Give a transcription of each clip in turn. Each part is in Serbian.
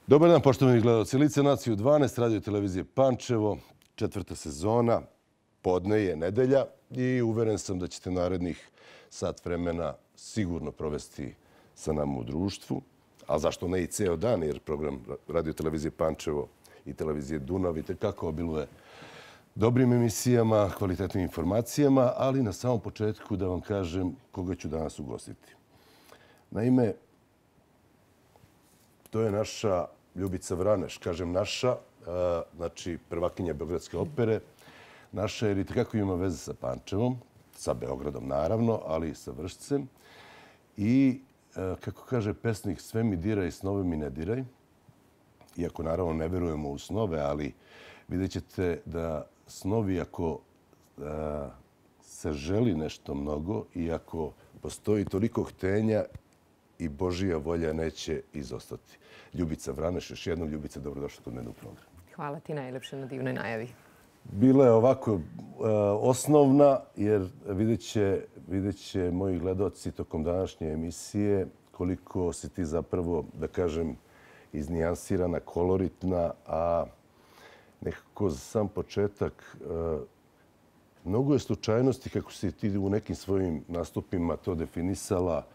Dobar dan, poštovani gledalci. Lice nacije u 12, radio televizije Pančevo, 4. sezona, podne je nedelja i uveren sam da ćete narednih sat vremena sigurno provesti sa nama u društvu. A zašto ne i ceo dan, jer program radio televizije Pančevo i televizije Dunav i tekako obiluje dobrim emisijama, kvalitetnim informacijama, ali na samom početku da vam kažem koga ću danas ugostiti. Naime, to je naša Ljubica Vraneš. Kažem naša, znači prvakinja Beogradske opere. Naša jer i tekako ima veze sa Pančevom, sa Beogradom naravno, ali i sa Vršcem. I, kako kaže pesnik, sve mi diraj, snove mi ne diraj. Iako naravno ne verujemo u snove, ali vidjet ćete da snovi, ako se želi nešto mnogo i ako postoji toliko htenja, i Božija volja neće izostati. Ljubica Vraneš, još jednom. Ljubica, dobrodošla kod mene u program. Hvala ti najlepše na divnoj najavi. Bila je ovako osnovna, jer vidjet će moji gledaoci tokom današnje emisije koliko si ti zapravo, da kažem, iznijansirana, koloritna, a nekako za sam početak mnogo je slučajnosti kako si ti u nekim svojim nastupima to definisala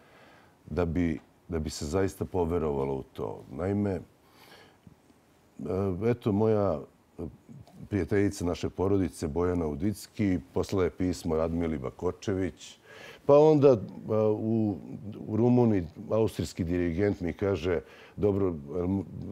da bi se zaista poverovalo u to. Naime, eto, moja prijateljica naše porodice, Bojana Udicki, poslala je pismo Radmili Bakočević, pa onda u Rumuniji austrijski dirigent mi kaže: dobro,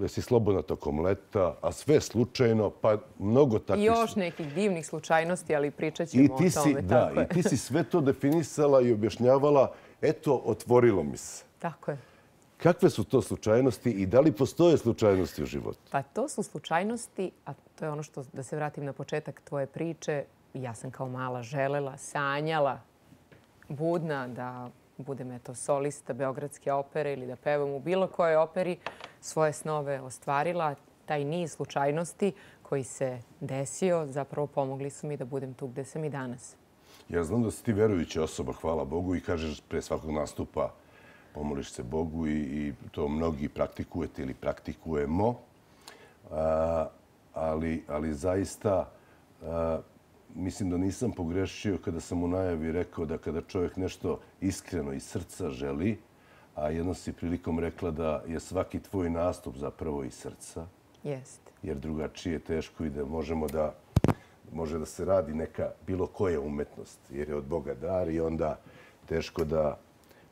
jesi slobodna tokom leta, a sve slučajno, pa mnogo takvih... I još nekih divnih slučajnosti, ali pričat ćemo o tome. Da, i ti si sve to definisala i objašnjavala. Eto, otvorilo mi se. Tako je. Kakve su to slučajnosti i da li postoje slučajnosti u životu? Pa to su slučajnosti, a to je ono što, da se vratim na početak tvoje priče, ja sam kao mala želela, sanjala, budna da budem solista Beogradske opere ili da pevam u bilo kojoj operi, svoje snove ostvarila. Taj niz slučajnosti koji se desio zapravo pomogli su mi da budem tu gde sam i danas. Ja znam da si ti verujuća osoba, hvala Bogu, i kažeš pre svakog nastupa pomoliš se Bogu i to mnogi praktikujete ili praktikujemo. Ali zaista mislim da nisam pogrešio kada sam u najavi rekao da kada čovjek nešto iskreno iz srca želi, a jednom si prilikom rekla da je svaki tvoj nastup zapravo iz srca. Jeste. Jer drugačije je teško i da može da se radi neka bilo koja umetnost, jer je od Boga dar i onda teško da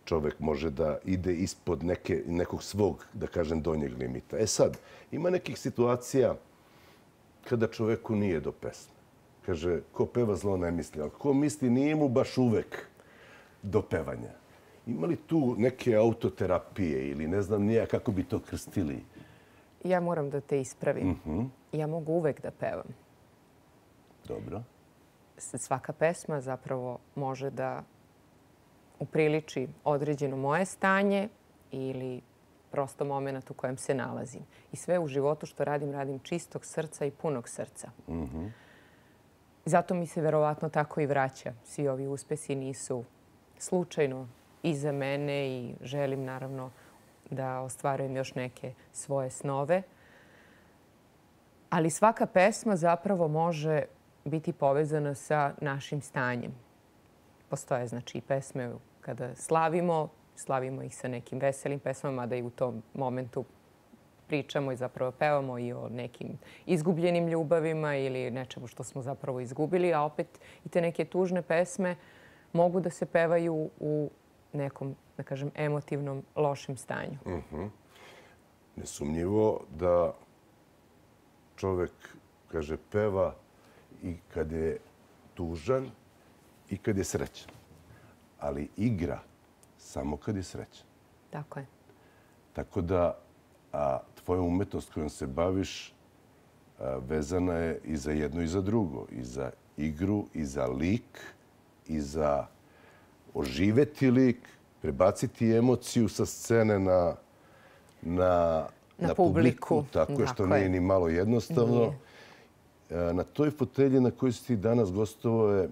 čovjek može da ide ispod nekog svog, da kažem, donjeg limita. E sad, ima nekih situacija kada čovjeku nije do pesme. Kaže, ko peva zlo ne misli, ali ko misli nije mu baš uvek do pevanja. Ima li tu neke autoterapije ili ne znam nija kako bi to krstili? Ja moram da te ispravim. Ja mogu uvek da pevam. Dobro. Svaka pesma zapravo može da upriliči određeno moje stanje ili prosto moment u kojem se nalazim. I sve u životu što radim, radim čistog srca i punog srca. Zato mi se verovatno tako i vraća. Svi ovi uspesi nisu slučajno iza mene i želim naravno da ostvarujem još neke svoje snove. Ali svaka pesma zapravo može biti povezana sa našim stanjem. Postoje znači i pesme kada slavimo ih sa nekim veselim pesmama, da i u tom momentu pričamo i zapravo pevamo i o nekim izgubljenim ljubavima ili nečemu što smo zapravo izgubili, a opet i te neke tužne pesme mogu da se pevaju u nekom, da kažem, emotivnom, lošem stanju. Nesumnjivo da čovjek, kaže, peva i kad je tužan i kad je srećan. Ali igra samo kad je srećan. Tako je. Tako da tvoja umetnost kojom se baviš vezana je i za jedno i za drugo. I za igru, i za lik, i za oživeti lik, prebaciti emociju sa scene na publiku. Tako je, što nije ni malo jednostavno. Na toj fotelji na kojoj si ti danas gostovao je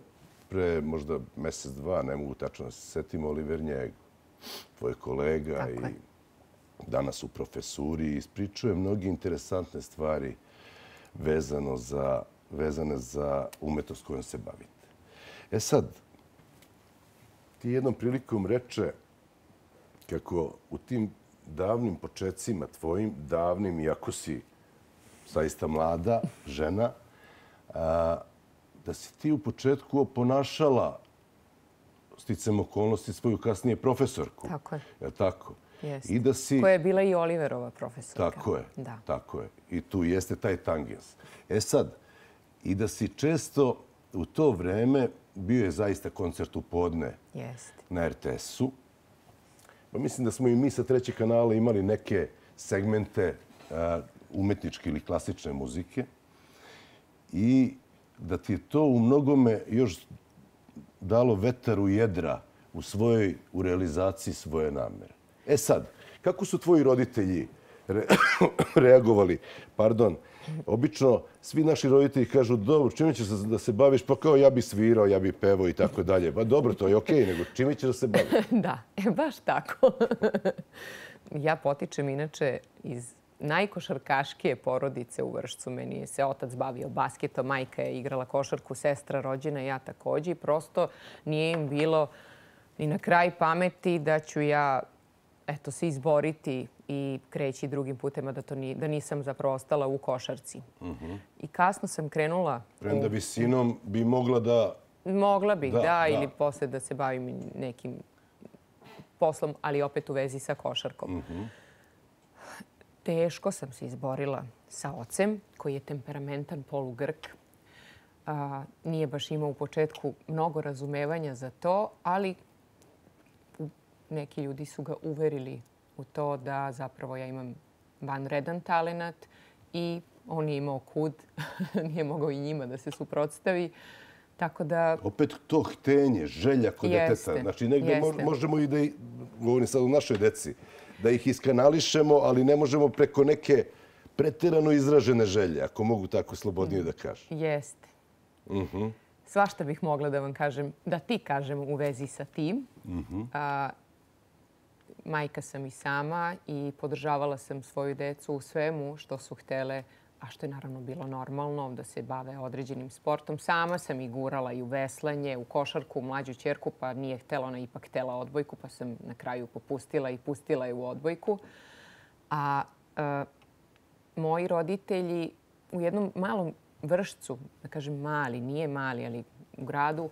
pre možda mesec, dva, ne mogu tačno da se setim, Oliver Njego, tvoj kolega i danas u profesuri, ispričao je mnoge interesantne stvari vezane za umetnost kojom se bavite. E sad, ti jednom prilikom reče kako u tim davnim početcima tvojim, davnim, iako si zaista mlada žena, da si ti u početku oponašala sticam okolnosti svoju kasnije profesorku. Tako je. Je li tako? Jeste. I da si... Koja je bila i Oliverova profesorka. Tako je. Da. Tako je. I tu jeste taj tangens. E sad, i da si često u to vreme bio je zaista koncert u podne na RTS-u. Pa mislim da smo i mi sa trećeg kanala imali neke segmente umetničke ili klasične muzike i da ti je to u mnogome još dalo vetar u jedra u realizaciji svoje namere. E sad, kako su tvoji roditelji reagovali? Pardon, obično svi naši roditelji kažu dobro, čime ćeš da se baviš? Pa kao ja bi svirao, ja bi pevao i tako dalje. Pa dobro, to je okej, nego čime ćeš da se baviš? Da, baš tako. Ja potičem inače iz najkošarkaškije porodice u Vršcu. Meni se otac bavio basketom, majka je igrala košarku, sestra rođena, ja takođe. I prosto nije im bilo ni na kraj pameti da ću ja se izboriti i kreći drugim putema, da nisam zapravo ostala u košarci. I kasno sam krenula... Premda visinom bi mogla da... Mogla bih, da, ili posle da se bavim nekim poslom, ali opet u vezi sa košarkom. Teško sam se izborila sa ocem, koji je temperamentan polugrk. Nije baš imao u početku mnogo razumevanja za to, ali neki ljudi su ga uverili u to da zapravo ja imam vanredan talenat i on je imao kud, nije mogao i njima da se suprotstavi. Tako da... Opet to htenje, želja kod deteta. Znači, negdje možemo i da, govorim sad o našoj deci, da ih iskanališemo, ali ne možemo preko neke preterano izražene želje, ako mogu tako slobodnije da kažem. Jeste. Svašta bih mogla da vam kažem, da ti kažem u vezi sa tim. Majka sam i sama i podržavala sam svoju decu u svemu što su htele, a što je naravno bilo normalno, da se bave određenim sportom. Sama sam i gurala i u veslanje, u košarku, mlađu ćerku, pa nije htela, ona ipak htela odbojku, pa sam na kraju popustila i pustila je u odbojku. A moji roditelji u jednom malom Vršcu, da kažem mali, nije mali, ali u gradu,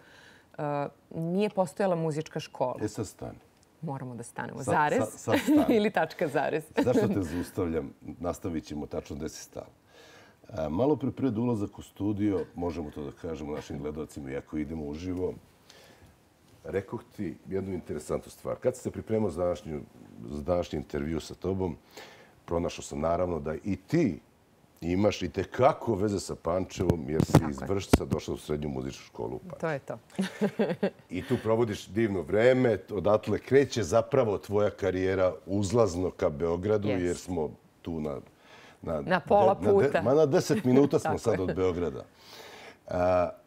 nije postojala muzička škola. E sad stani. Moramo da stanemo. Zarez ili tačka zarez. Zašto te zaustavljam? Nastavit ćemo tačno gde si stala. Malo pred ulazak u studio, možemo to da kažemo našim gledalcima, iako idemo uživo, rekoh ti jednu interesantnu stvar. Kad sam se pripremao za današnji intervju sa tobom, pronašao sam naravno da i ti imaš i tekako veze sa Pančevom, jer si iz Vršca došla u srednju muzičku školu u Pančevu. To je to. I tu provodiš divno vreme. Odatle kreće zapravo tvoja karijera uzlazno ka Beogradu, jer smo tu na pola puta. Na 10 minuta smo sad od Beograda.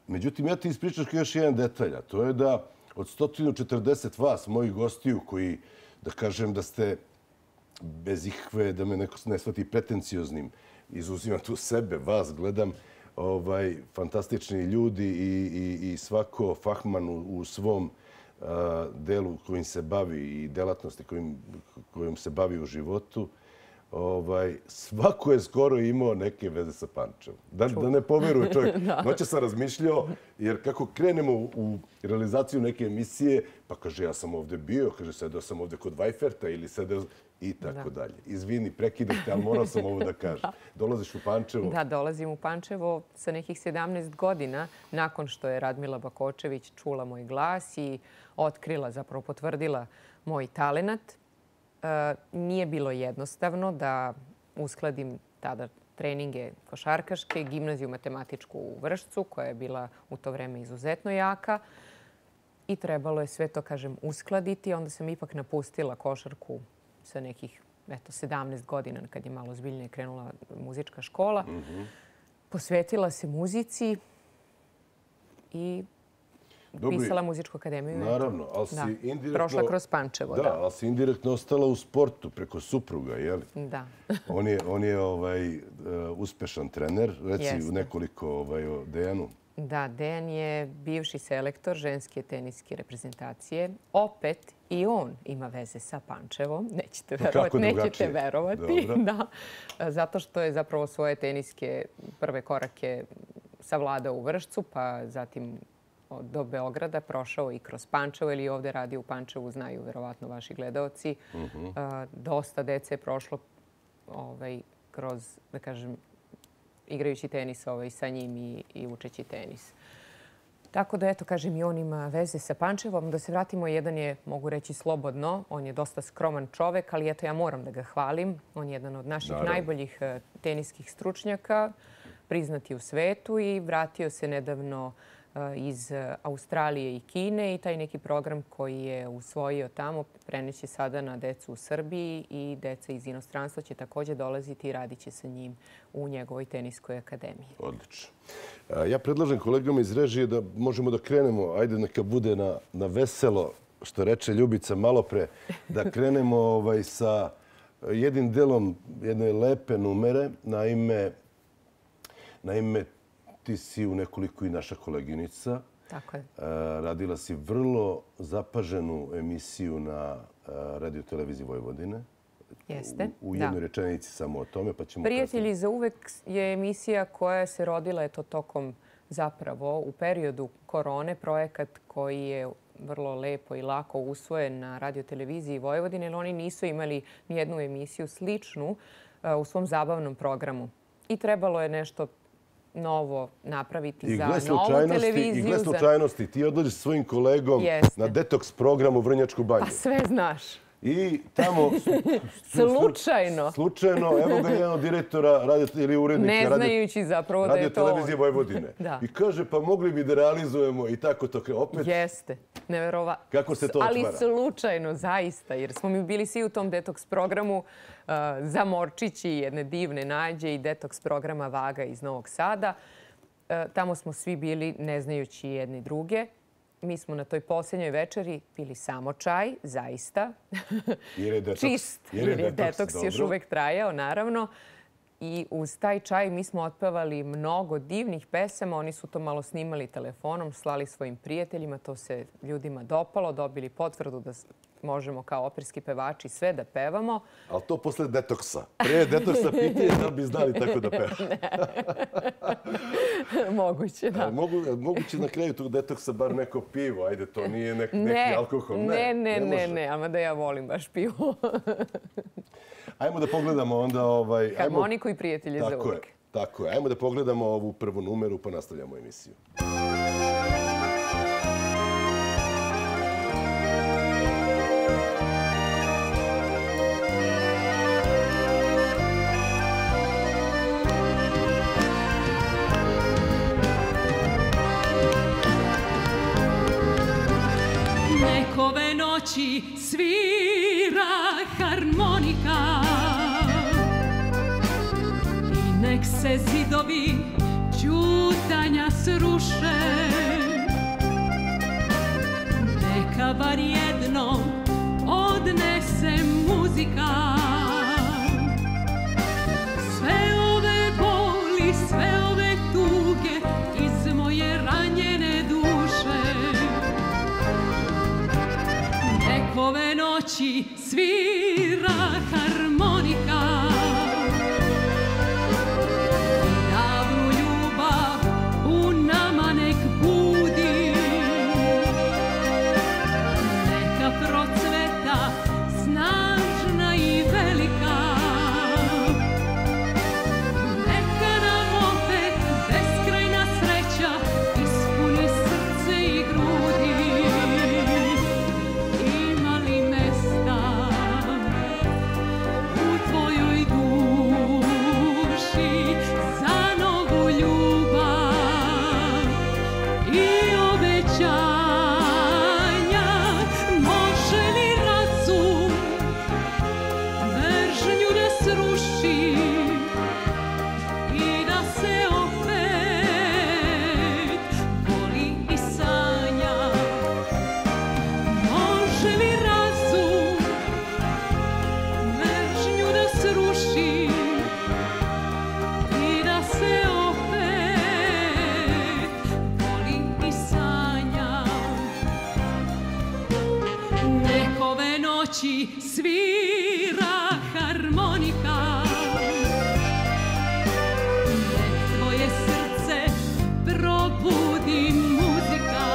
Međutim, ja ti ispričaš još jedan detalj, a to je da od 140 vas, mojih gostiju, koji, da kažem da ste bez ikve, da me neko ne shvati pretencioznim, izuzimam tu sebe, vas gledam, fantastični ljudi i svako fahman u svom delu kojim se bavi i delatnosti kojom se bavi u životu, svako je skoro imao neke veze sa Pančevom. Da ne poveruje čovjek. Noće sam razmišljao, jer kako krenemo u realizaciju neke emisije, pa kaže ja sam ovde bio, kaže sedeo sam ovde kod Vajferta ili sedeo i tako dalje. Izvini, prekidam te, ali morao sam ovo da kažem. Dolaziš u Pančevo? Da, dolazim u Pančevo sa nekih 17 godina, nakon što je Radmila Bakočević čula moj glas i otkrila, zapravo potvrdila moj talenat. Nije bilo jednostavno da uskladim tada treninge košarkaške, gimnaziju matematičku u Vršcu, koja je bila u to vreme izuzetno jaka. I trebalo je sve to, kažem, uskladiti. Onda sam ipak napustila košarku sa nekih 17 godina, kad je malo zbiljnije krenula muzička škola. Posvetila se muzici i upisala muzičku akademiju. Naravno, ali si indirektno... Prošla kroz Pančevo, da. Da, ali si indirektno ostala u sportu preko supruga, jeli? Da. On je uspešan trener, reci u nekoliko o Dejanu. Da, Dejan je bivši selektor ženske teniske reprezentacije. Opet i on ima veze sa Pančevom. Nećete verovati. Da. Zato što je zapravo svoje teniske prve korake savladao u Vršcu, pa zatim do Beograda prošao i kroz Pančevo, ili ovdje radi u Pančevu, znaju verovatno vaši gledaoci. Dosta dece je prošlo kroz, da kažem, igrajući tenis sa njim i učeći tenis. Tako da, eto, kažem, i on ima veze sa Pančevom. Da se vratimo, jedan je, mogu reći slobodno, on je dosta skroman čovek, ali eto, ja moram da ga hvalim. On je jedan od naših najboljih teniskih stručnjaka, priznati u svetu, i vratio se nedavno iz Australije i Kine, i taj neki program koji je usvojio tamo preneće sada na decu u Srbiji, i deca iz inostranstva će također dolaziti i radit će sa njim u njegovoj teniskoj akademiji. Odlično. Ja predlažem kolegama iz režije da možemo da krenemo, ajde neka bude na veselo, što reče Ljubica malopre, da krenemo sa jednim delom jedne lepe numere. Naime, ti si u nekoliko i naša koleginica. Tako je. Radila si vrlo zapaženu emisiju na Radio-televiziji Vojvodine. Jeste. U jednoj rečenici samo o tome, pa ćemo... Prijatelji za uvek je emisija koja se rodila tokom zapravo u periodu korone, projekat koji je vrlo lepo i lako usvojen na Radio-televiziji Vojvodine, jer oni nisu imali nijednu emisiju sličnu u svom zabavnom programu. I trebalo je nešto novo napraviti za novu televiziju. I gle slučajnosti, ti odlaziš s svojim kolegom na detoks program u Vrnjačku banju. Pa sve znaš. I tamo... Slučajno, evo ga jedan od direktora ili urednika ne znajući zapravo da je to on. Radio-televizije Vojvodine. I kaže, pa mogli bi da realizujemo i tako to opet. Jeste, neverovatno. Kako se to otvara? Ali slučajno, zaista, jer smo mi bili svi u tom detoks programu Zamorčići, jedne divne nađe, i detoks programa Vaga iz Novog Sada. Tamo smo svi bili ne znajući jedni druge. Mi smo na toj posljednjoj večeri pili samo čaj, zaista. Čist, jer je detoks još uvek trajao, naravno. I uz taj čaj mi smo otpevali mnogo divnih pesama. Oni su to malo snimali telefonom, slali svojim prijateljima. To se ljudima dopalo, dobili potvrdu da možemo kao operski pevači sve da pevamo. Ali to posle detoksa. Prije detoksa pitanje da bi znali tako da peva. Moguće, da. Moguće na kraju tog detoksa bar neko pivo. Ajde, to nije neki alkohol. Ne, ama da ja volim baš pivo. Ajmo da pogledamo onda... Harmoniku i prijatelje za uvijek. Tako je. Ajmo da pogledamo ovu prvu numeru pa nastavljamo emisiju. Ove noći svira harmonika i nek se zidovi ćutanja sruše, neka bar jednom odnese muzika sve ove boli, sve ove tuge iz moje ranjene duše. Ove noći svira harmonika i davnu ljubav u nama nek budi, neka procveta snažna i velika, neka nam opet beskrajna sreća ispuni srce i grudi. muzika. Nek tvoje srce probudi muzika.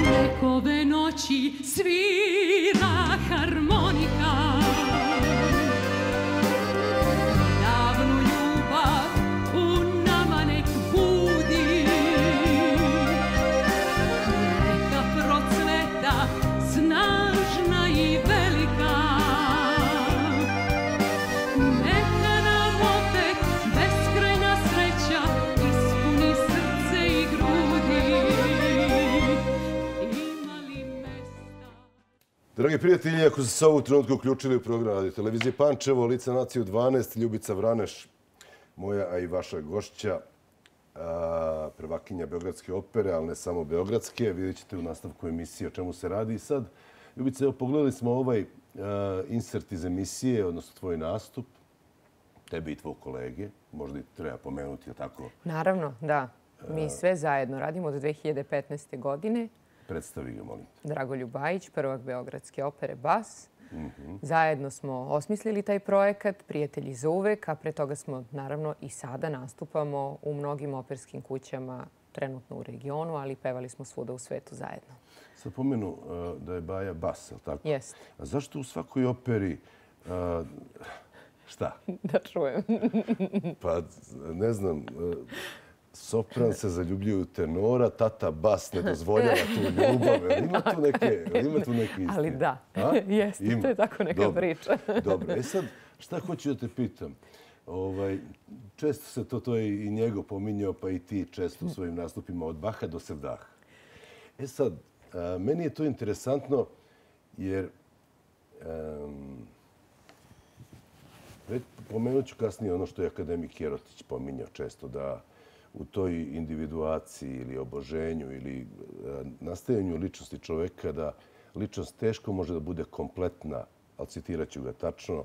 Nek ove noći svira harmonika. Davnu ljubav u nama nek budi. Neka procveta snažna i velika. Neka nam opet beskrajna sreća ispuni srce i grudi. Ima li mesta? Dragi prijatelji, ako ste se ovu trenutku uključili u program Radio Televizije Pančevo, Lice nacije u 12, Ljubica Vraneš, moja, a i vaša gošća, prvakinja Beogradske opere, ali ne samo Beogradske. Vidjet ćete u nastavku emisije o čemu se radi. I sad, Ljubica, evo, pogledali smo ovaj insert iz emisije, odnosno tvoj nastup, tebe i tvoj kolege. Možda i treba pomenuti, je tako? Naravno, da. Mi sve zajedno radimo od 2015. godine. Predstavi ga, molim te. Dragoljub Bajić, prvak Beogradske opere Bas. Zajedno smo osmislili taj projekat, prijatelji za uvek, a pre toga smo naravno i sada nastupamo u mnogim operskim kućama, trenutno u regionu, ali pevali smo svuda u svetu zajedno. Sad pomenu da je Baja bas, je li tako? Jeste. A zašto u svakoj operi šta? Da čujem. Pa, ne znam, sopran se zaljubljuje u tenora, tata bas ne dozvoljava tu ljubav. Ima tu neke istine? Ali da, jeste, Ima. to je tako neka Dobro. priča. Dobro, sad, šta hoću da te pitam? Često se to je i njegov pominjao, pa i ti često u svojim nastupima od Baha do Sevdaha. Sad, meni je to interesantno jer pomenut ću kasnije ono što je akademik Jerotić pominjao često, da u toj individuaciji ili oboženju ili nastajanju ličnosti čoveka da ličnost teško može da bude kompletna, ali citirat ću ga tačno,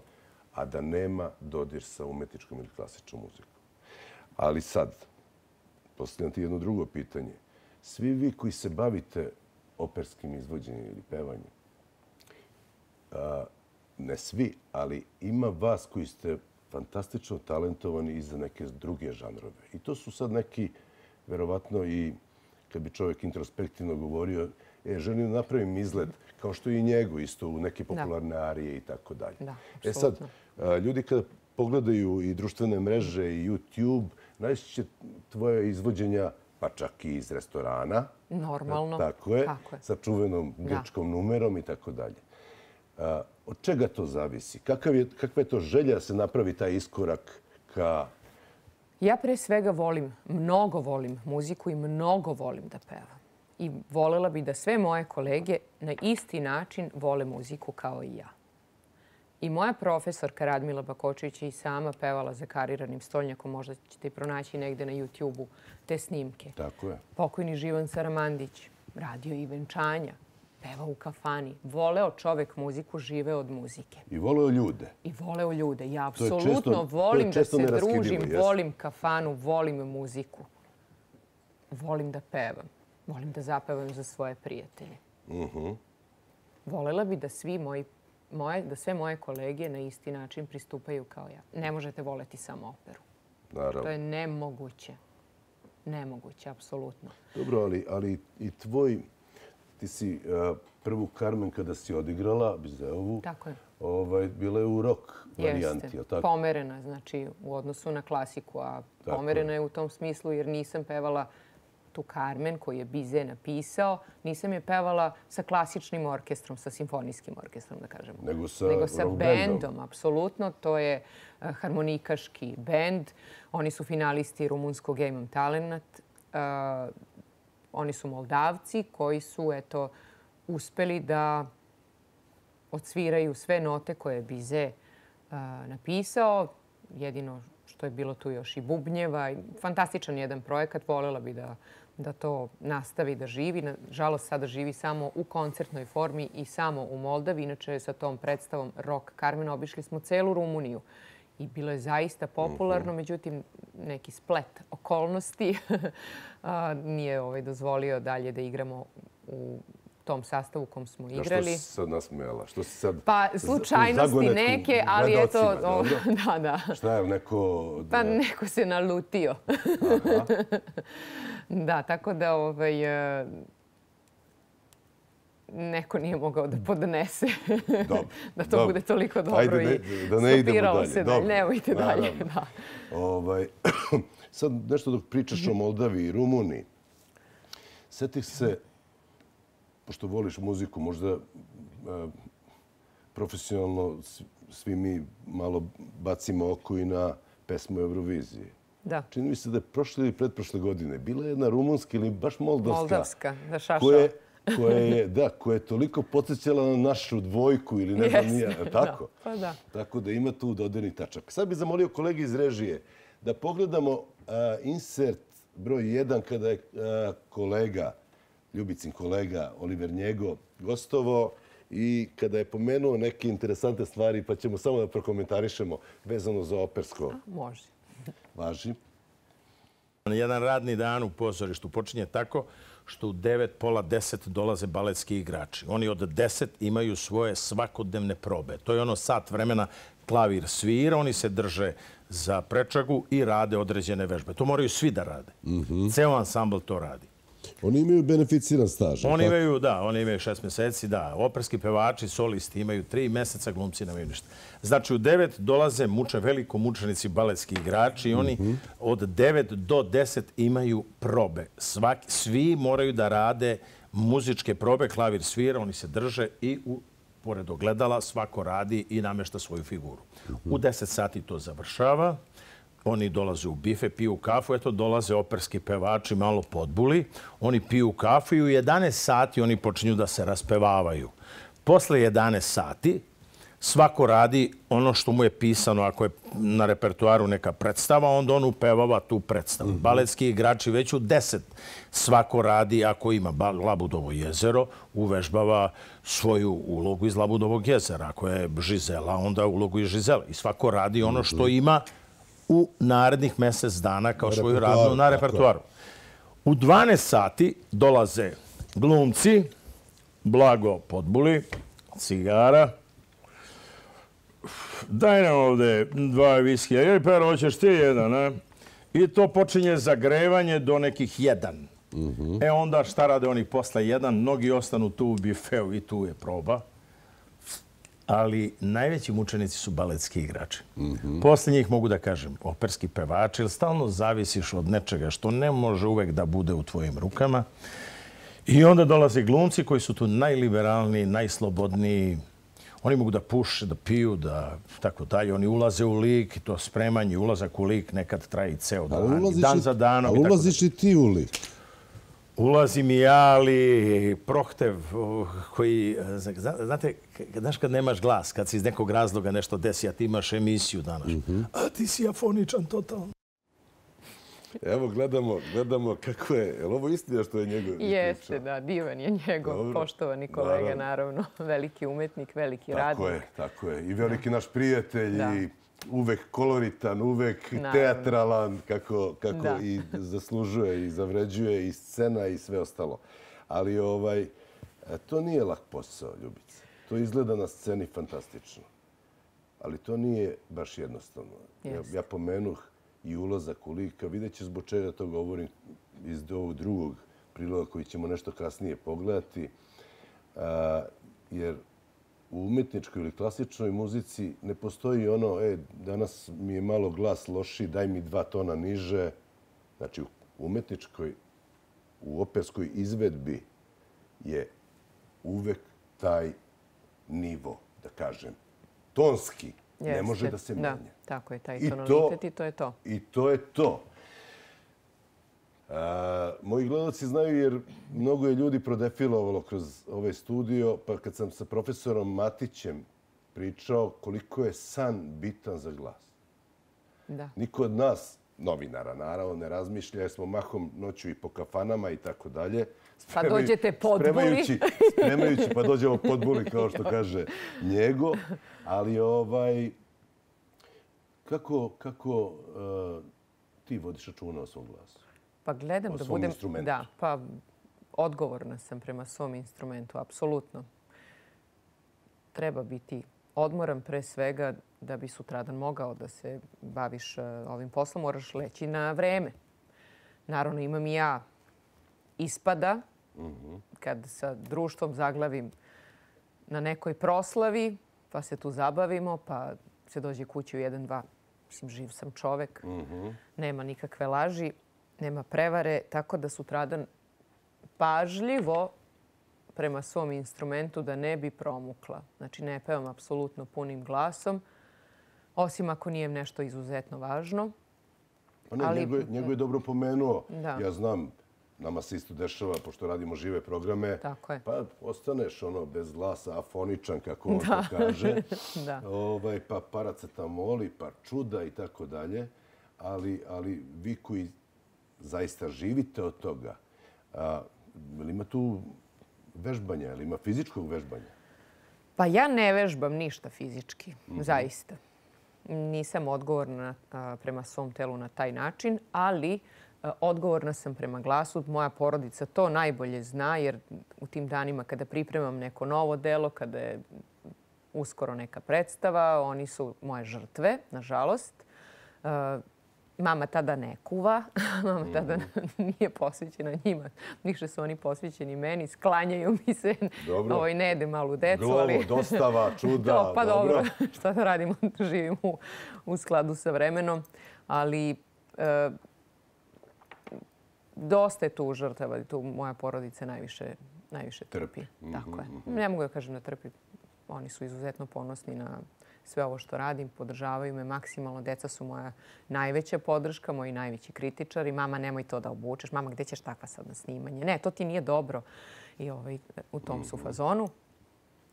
a da nema dodir sa umetničkom ili klasičnom muzikom. Ali sad, postavljam ti jedno drugo pitanje. Svi vi koji se bavite operskim izvođenjem ili pevanjem, ne svi, ali ima vas koji ste fantastično talentovani i za neke druge žanrove. I to su sad neki, verovatno i kad bi čovjek introspektivno govorio, želim da napravim izgled, kao što i njegov isto u neke popularne arije i tako dalje. Da, Sad, ljudi kada pogledaju i društvene mreže i YouTube, najčešće će tvoje izvođenja, pa čak i iz restorana. Normalno. Tako je, sa čuvenom grčkom numerom i tako dalje. Od čega to zavisi? Kakva je to želja da se napravi taj iskorak ka... Ja pre svega mnogo volim muziku i mnogo volim da pevam. I volela bi da sve moje kolege na isti način vole muziku kao i ja. I moja profesorka Radmila Bakočević je i sama pevala za kariranim stolnjakom. Možda ćete i pronaći negde na YouTube-u te snimke. Tako je. Pokojni Živan Saramandić radio i venčanja. Pevao u kafani. Voleo čovek muziku, živeo od muzike. I voleo ljude. I voleo ljude. Ja apsolutno volim da se družim, volim kafanu, volim muziku. Volim da pevam. Volim da zapevam za svoje prijatelje. Volela bi da sve moje kolege na isti način pristupaju kao ja. Ne možete voleti samo operu. Naravno. To je nemoguće. Nemoguće, apsolutno. Dobro, ali i tvoj... Ti si prvu Carmen kada si odigrala, Bizeovu, bila je u rock varijanti. Jeste, pomerena, znači u odnosu na klasiku, a pomerena je u tom smislu jer nisam pevala tu Carmen koju je Bizet napisao, nisam je pevala sa klasičnim orkestrom, sa simfonijskim orkestrom, da kažemo. Nego sa bendom, apsolutno. To je harmonikaški bend. Oni su finalisti rumunskog Imam Talent. Oni su Moldavci koji su uspeli da odsviraju sve note koje je Bizet napisao. Jedino što je bilo tu još i bubnjeva. Fantastičan jedan projekat. Voljela bi da to nastavi da živi. Nažalost, sada živi samo u koncertnoj formi i samo u Moldavi. Inače, sa tom predstavom Rock Carmen obišli smo celu Rumuniju. I bilo je zaista popularno, međutim, neki splet okolnosti nije dozvolio dalje da igramo u tom sastavu u kom smo igrali. Što si sad nasmejala? Što si sad pa slučajnosti neke, ali eto... Da. Šta je neko... Pa neko se nalutio. Da, tako da neko nije mogao da podnese da to bude toliko dobro i stopiralo se da nemojte dalje. Sad nešto dok pričaš o Moldavi i Rumuniji, setih se, pošto voliš muziku, možda profesionalno svi mi malo bacimo oko i na pesmu Eurovizije. Da. Čini mi se da je prošle ili pretprošle godine bila jedna rumunska ili baš moldavska. Moldavska, da šašao. koja je toliko podsjećala na našu dvojku ili ne znam nije. Tako? Pa da. Tako da ima tu dodirni tačak. Sad bih zamolio kolege iz režije da pogledamo insert broj 1 kada je Ljubicin kolega Oliver Njego gostovao i kada je pomenuo neke interesantne stvari, pa ćemo samo da prokomentarišemo vezano za opersko. Može. Važi. Jedan radni dan u pozorištu počinje tako što u 9, pola 10 dolaze baletski igrači. Oni od 10 imaju svoje svakodnevne probe. To je ono sat vremena klavir svira, oni se drže za prečagu i rade određene vežbe. To moraju svi da rade. Ceo ansambl to radi. Oni imaju beneficiran staž. Oni imaju 6 meseci, da. Operski pevači, solisti imaju 3 meseca, glumci nemaju ništa. Znači, u 9 dolaze veliko mučenici baletski igrači i oni od 9 do 10 imaju probe. Svi moraju da rade muzičke probe, klavir svira, oni se drže i pored ogledala svako radi i namešta svoju figuru. U 10 sati to završava. Oni dolaze u bife, piju kafu, eto dolaze operski pevači, malo podbuli. Oni piju kafu i u 11 sati oni počinju da se raspevavaju. Posle 11 sati svako radi ono što mu je pisano. Ako je na repertuaru neka predstava, onda on upevava tu predstavu. Baletski igrači već u 10 svako radi, ako ima Labudovo jezero, uvežbava svoju ulogu iz Labudovog jezera. Ako je Žizela, onda ulogu iz Žizela. I svako radi ono što ima u narednih mjesec dana kao svoju radnu na repertuaru. U 12 sati dolaze glumci, blago podbuli, cigara. Daj nam ovde 2 viskija. Jer, Pero, hoćeš ti jedan, a? I to počinje zagrevanje do nekih 1. Onda šta rade oni posle 1? Mnogi ostanu tu u bifeu i tu je proba. Ali najveći mučenici su baletski igrači. Posle njih mogu da kažem operski pevači, jer stalno zavisiš od nečega što ne može uvek da bude u tvojim rukama. I onda dolaze glumci koji su tu najliberalniji, najslobodniji. Oni mogu da puše, da piju, da tako dalje. Oni ulaze u lik, to spremanje, ulazak u lik nekad traje i ceo dan. Dan za danom. Ali ulaziš i ti u lik? Ulazim i ja, ali prohtev koji... Znate, znaš kad nemaš glas, kad se iz nekog razloga nešto desi, a ti imaš emisiju danas. A ti si afoničan totalno. Evo, gledamo kako je... Je li ovo istina što je njegov priča? Jeste, da, divan je njegov poštovani kolega, naravno. Veliki umetnik, veliki radnik. Tako je. I veliki naš prijatelj i uvek koloritan, uvek teatralan, kako i zaslužuje i zavređuje i scena i sve ostalo. Ali to nije lak posao, Ljubice. To izgleda na sceni fantastično. Ali to nije baš jednostavno. Ja pomenuh i ulazak u lika. Vidjet će zbog čega to govorim iz ovog drugog priloga koji ćemo nešto kasnije pogledati. Jer u umetničkoj ili klasičnoj muzici ne postoji ono, danas mi je malo glas lošiji, daj mi 2 tona niže. Znači, u umetničkoj, u operskoj izvedbi je uvek taj nivo, da kažem, tonski, ne može da se menja. Da, tako je, taj tonalitet i to je to. I to je to. Moji gledalci znaju jer mnogo je ljudi prodefilovalo kroz ovaj studio, pa kad sam sa profesorom Matićem pričao koliko je san bitan za glas. Niko od nas novinara, naravno, ne razmišlja, jer smo mahom noću i po kafanama i tako dalje. Pa dođete podbuli. Spremajući, pa dođemo podbuli, kao što kaže Njego. Ali kako ti vodiš računa o svom glasu? Pa gledam O da svom budem... instrumentu. Da, pa odgovorna sam prema svom instrumentu, apsolutno. Treba biti odmoran pre svega da bi sutradan mogao da se baviš ovim poslom, moraš leći na vreme. Naravno, imam i ja ispada kad sa društvom zaglavim na nekoj proslavi, pa se tu zabavimo, pa se dođe kući u 1-2. Mislim, živ sam čovek, nema nikakve laži, nema prevare, tako da sutradan pažljivo prema svom instrumentu da ne bi promukla. Znači, ne pevam apsolutno punim glasom, osim ako nije nešto izuzetno važno. Njego je dobro pomenuo. Da. Ja znam, nama se isto dešava, pošto radimo žive programe, Tako je. pa ostaneš bez glasa, afoničan, kako on to kaže. Da. Pa paracetamoli, pa čuda i tako dalje. Ali vi koji zaista živite od toga, ima tu vežbanja, ili ima fizičkog vežbanja? Pa ja ne vežbam ništa fizički, zaista. Nisam odgovorna prema svom telu na taj način, ali odgovorna sam prema glasu. Moja porodica to najbolje zna, jer u tim danima kada pripremam neko novo delo, kada je uskoro neka predstava, oni su moje žrtve, nažalost. Mama tada ne kuva, mama tada nije posvećena njima. Više su oni posvećeni meni, sklanjaju mi se, ne jede malu decu. Glovo, dostava, čuda, pa dobro. Šta da radimo, živimo u skladu sa vremenom. Ali dosta je tu žrtava, tu moja porodica najviše trpi. Tako je. Ne mogu da kažem da trpi. Oni su izuzetno ponosni na sve ovo što radim, podržavaju me maksimalno. Deca su moja najveća podrška, moji najveći kritičari. Mama, nemoj to da obučeš. Mama, gde ćeš takva sad na snimanje? Ne, to ti nije dobro. I u tom su fazonu.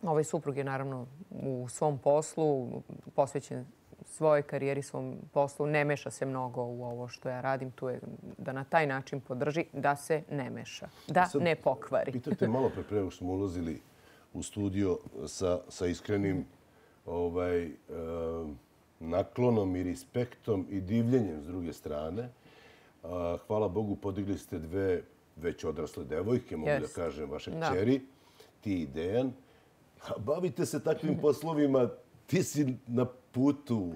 Ovaj suprug je naravno u svom poslu, posvećen svojoj karijeri, svom poslu. Ne meša se mnogo u ovo što ja radim. Tu je da na taj način podrži, da se ne meša, da ne pokvari. Pitate malo pre nego što smo ulazili u studio sa iskrenim naklonom i respektom i divljenjem s druge strane. Hvala Bogu, podigli ste dve već odrasle devojke, mogu da kažem, vaše kćeri, ti i Dejan. Bavite se takvim poslovima, ti si na putu,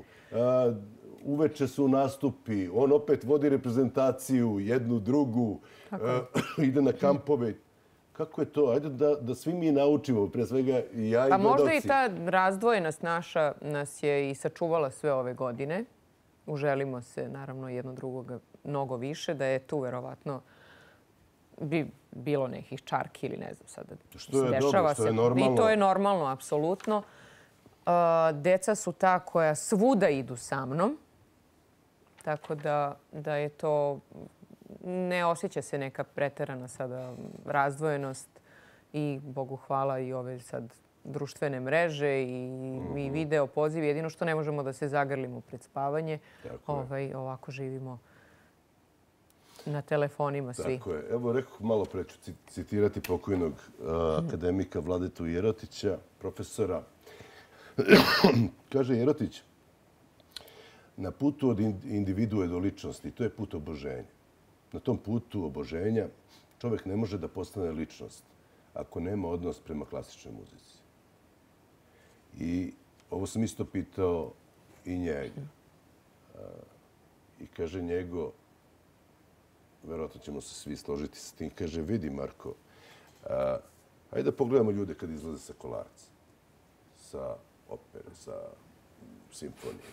uveče su nastupi, on opet vodi reprezentaciju, jednu, drugu, ide na kampove. Kako je to? Ajde da svi mi naučimo, pre svega i ja i gledalci. Pa možda i ta razdvojenost naša nas je i sačuvala sve ove godine. Uželimo se, naravno, jedno drugoga mnogo više, da je tu verovatno bi bilo nekih čarki ili ne znam sada. Što je dobro, što je normalno. I to je normalno, apsolutno. Deca su ta koja svuda idu sa mnom, tako da je to... Ne osjeća se neka preterana sada razdvojenost i Bogu hvala i ove sad društvene mreže i video pozivi. Jedino što ne možemo da se zagrlimo pred spavanje. Ovako živimo na telefonima svi. Tako je. Evo, rekoh malo pre ću citirati pokojnog akademika Vladetu Jerotića, profesora. Kaže Jerotić, na putu od individue do ličnosti, to je put oboženja. Na tom putu oboženja čovjek ne može da postane ličnost ako nema odnos prema klasičnoj muzici. I ovo sam isto pitao i njega. I kaže Njego, verovatno ćemo se svi složiti s tim, kaže, vidi Marko, hajde da pogledamo ljude kad izlaze sa Kolarca, sa opere, sa simfonije.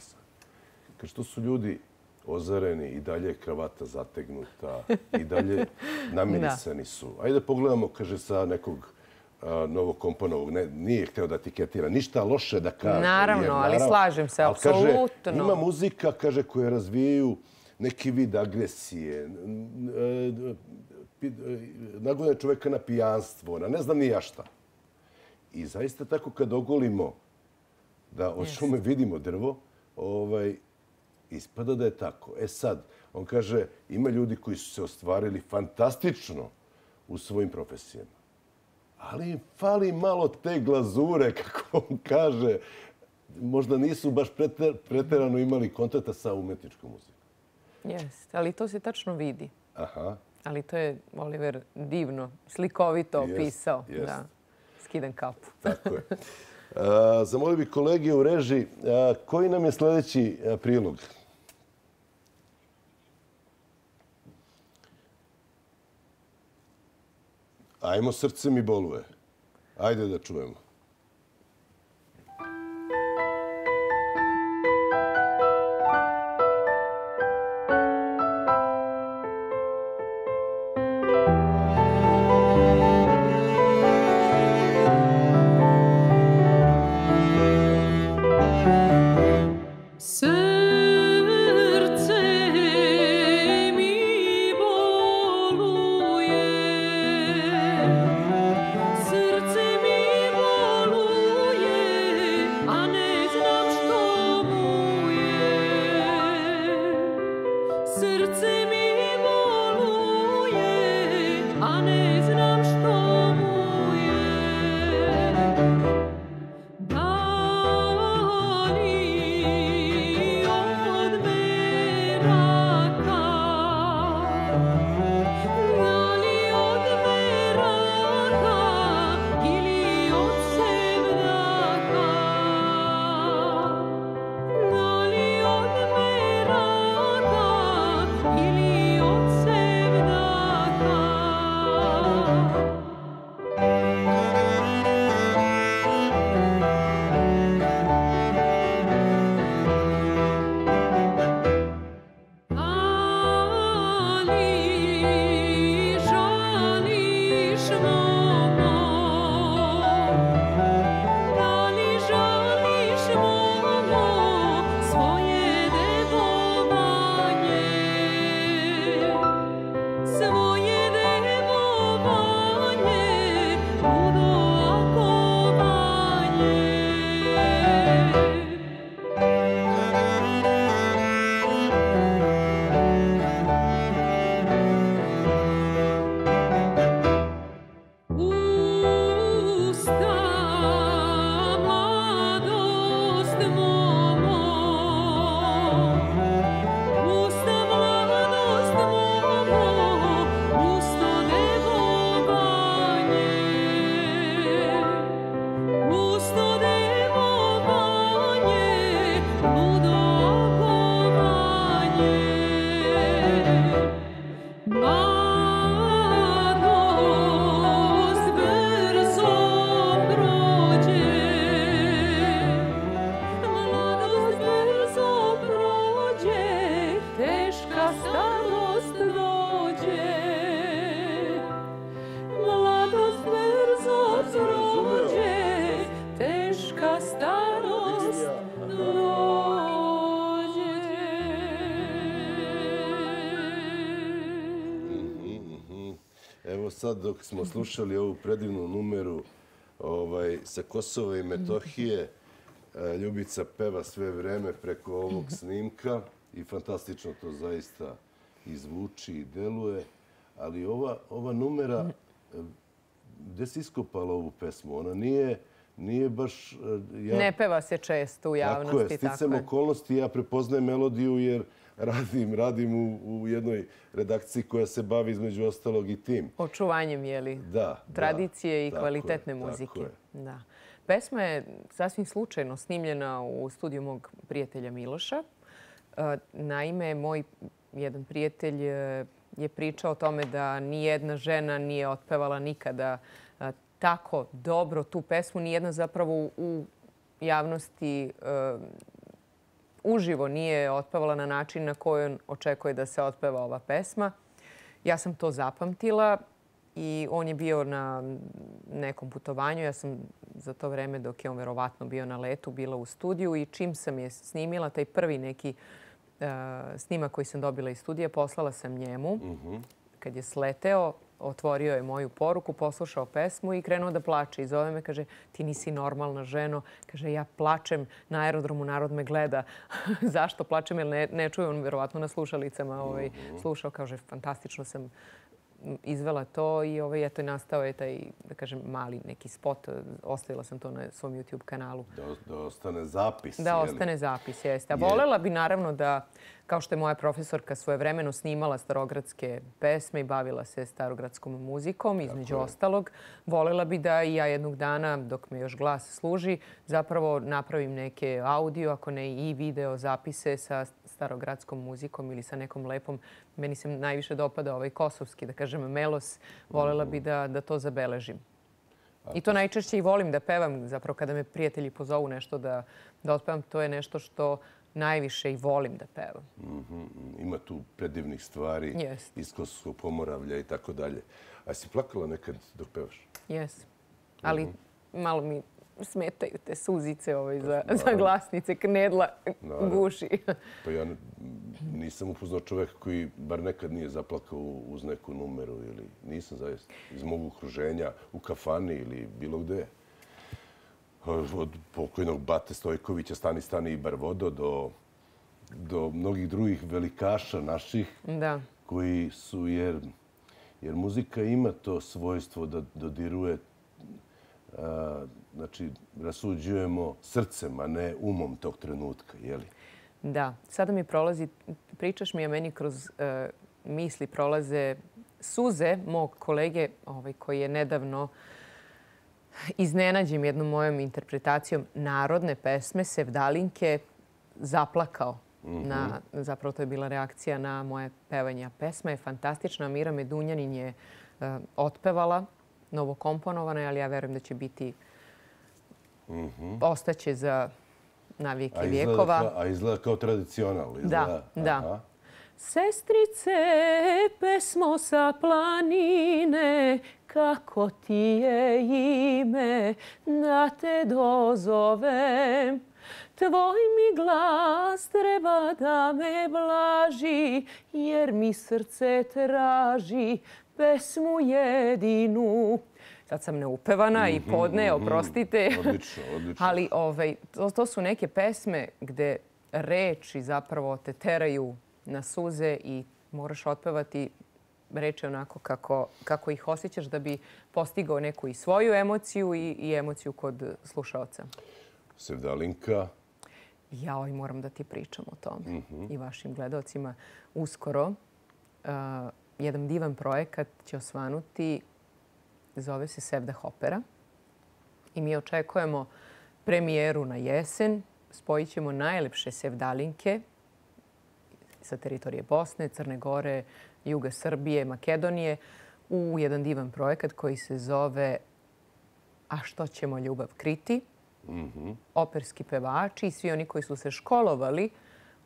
Kaže, to su ljudi ozareni, i dalje je kravata zategnuta, i dalje namirisani su. Ajde pogledamo, kaže, sa nekog novokomponovog, nije hteo da etiketira, ništa loše da kaže. Naravno, ali slažem se, apsolutno. Kaže, ima muzika, kaže, koje razvijaju neki vid agresije, nagone čoveka na pijanstvo, na ne znam ni ja šta. I zaista tako kad ogolimo da od šume vidimo drvo, ispada da je tako. E sad, on kaže, ima ljudi koji su se ostvarili fantastično u svojim profesijama. Ali im fali malo te glazure, kako on kaže. Možda nisu baš preterano imali kontakta sa umetničkom muzikom. Jeste, ali to se tačno vidi. Aha. Ali to je Oliver divno, slikovito opisao. Jest. Da, skidam kapu. Tako je. Zamolio bih kolege u režiji, koji nam je sljedeći prilog? Ajmo, srce mi boluje. Ajde da čujemo. Srce mi boluje, srce mi boluje, a ne znam što mu je. Srce mi boluje, a ne znam što mu je. Da li od meraka, da li od meraka ili od sevdaka, da li od meraka ili od sevdaka. Ali žališ momo, da li žališ momo svoje devovanje, svoje devovanje, ludo akovanje. Usta mladost momo, usta mladost momo, usto devovanje, usto devovanje, ludo akovanje. Mladost brzo prođe, mladost brzo prođe, teška starost dođe. Mladost brzo prođe, teška starost dođe. Evo sad dok smo slušali ovu predivnu numeru sa Kosova i Metohije, Ljubica peva sve vreme preko ovog snimka i fantastično to zaista izvuči i deluje. Ali ova numera, gde si iskopala ovu pesmu? Ona nije baš... Ne peva se često u javnosti. Tako je, sticam okolnosti, ja prepoznajem melodiju jer radim u jednoj redakciji koja se bavi između ostalog i tim. Očuvanjem, je li? Da. Tradicije i tako kvalitetne je, muzike. tako je. Da. Pesma je sasvim slučajno snimljena u studiju mog prijatelja Miloša. Naime, moj jedan prijatelj je pričao o tome da nijedna žena nije otpevala nikada tako dobro tu pesmu. Nijedna zapravo u javnosti uživo nije otpevala na način na koji on očekuje da se otpeva ova pesma. Ja sam to zapamtila i on je bio na nekom putovanju. Ja sam za to vreme, dok je on verovatno bio na letu, bila u studiju i čim sam je snimila, taj prvi neki snimak koji sam dobila iz studija, poslala sam njemu. Kad je sleteo, otvorio je moju poruku, poslušao pesmu i krenuo da plače. I zove me, kaže, ti nisi normalna ženo. Kaže, ja plačem na aerodromu, narod me gleda. Zašto plačem? Jer ne čuje on verovatno na slušalicama. Slušao, kaže, fantastično sam izvela to i eto, nastao je taj, da kažem, mali neki spot. Ostavila sam to na svom YouTube kanalu. Da ostane zapis. Da ostane zapis, jeste. A volela bi naravno da, kao što je moja profesorka svojevremeno snimala starogradske pesme i bavila se starogradskom muzikom, između ostalog, volela bi da i ja jednog dana, dok me još glas služi, zapravo napravim neke audio, ako ne i video zapise sa starogradskom muzikom ili sa nekom lepom. Meni se najviše dopada ovaj kosovski, da kažem, melos. Volela bi da to zabeležim. I to najčešće i volim da pevam. Zapravo kada me prijatelji pozovu nešto da otpevam, to je nešto što najviše i volim da pevam. Ima tu predivnih stvari iz Kosovskog Pomoravlja i tako dalje. A si plakala nekad dok pevaš? Jes. Ali malo mi smetaju te suzice za glasnice, knedla guši. Pa ja nisam upoznao čoveka koji bar nekad nije zaplakao uz neku numeru ili nisam zaista. Iz mog okruženja, u kafani ili bilo gde. Od pokojnog Bate Stojkovića, Stani i Barvodo do mnogih drugih velikaša naših koji su, jer muzika ima to svojstvo da dodiruje, znači rasuđujemo srcem, a ne umom tog trenutka, je li? Da. Sada mi prolazi, pričaš mi, a meni kroz misli prolaze suze mog kolege koji je nedavno iznenađen jednom mojom interpretacijom narodne pesme Sevdalinke zaplakao. Zapravo to je bila reakcija na moje pevanje. Pesma je fantastična. Mira Medunjanin je otpevala, novokomponovana, ali ja verujem da će biti, ostaće za navijeke vijekova. A izgleda kao tradicional. Da. Sestrice, pesmo sa planine, kako ti je ime, da te dozovem. Tvoj mi glas treba da me blaži, jer mi srce traži pesmu jedinu. Sad sam neupevana i podne, oprostite. Odlično. Ali to su neke pesme gde reči zapravo te teraju na suze i moraš otpevati reči onako kako ih osjećaš da bi postigao neku i svoju emociju i emociju kod slušaoca. Sevdalinka. Ja moram da ti pričam o tome i vašim gledalcima. Uskoro jedan divan projekat će osvanuti, zove se Sevdah opera. I mi očekujemo premijeru na jesen. Spojit ćemo najlepše sevdalinke sa teritorije Bosne, Crne Gore, juga Srbije, Makedonije u jedan divan projekat koji se zove A što ćemo ljubav kriti? Operski pevači i svi oni koji su se školovali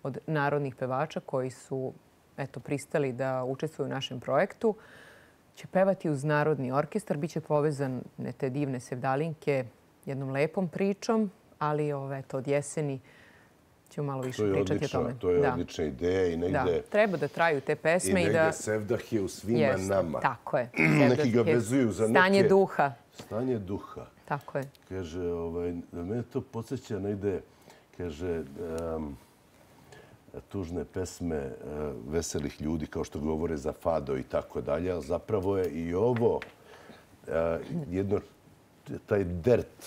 od narodnih pevača koji su pristali da učestvuju u našem projektu će pevati uz Narodni orkestar. Biće povezane te divne sevdalinke jednom lepom pričom, ali od jeseni ćemo malo više pričati o tome. To je odlična ideja i negde... Treba da traju te pesme i da... Sevdah je u svima nama. Tako je. Neki ga vezuju za neke... Stanje duha. Stanje duha. Tako je. Kaže, da mene to podsjeća negde, kaže, tužne pesme veselih ljudi, kao što govore za fado i tako dalje, ali zapravo je i ovo jedno, taj dert,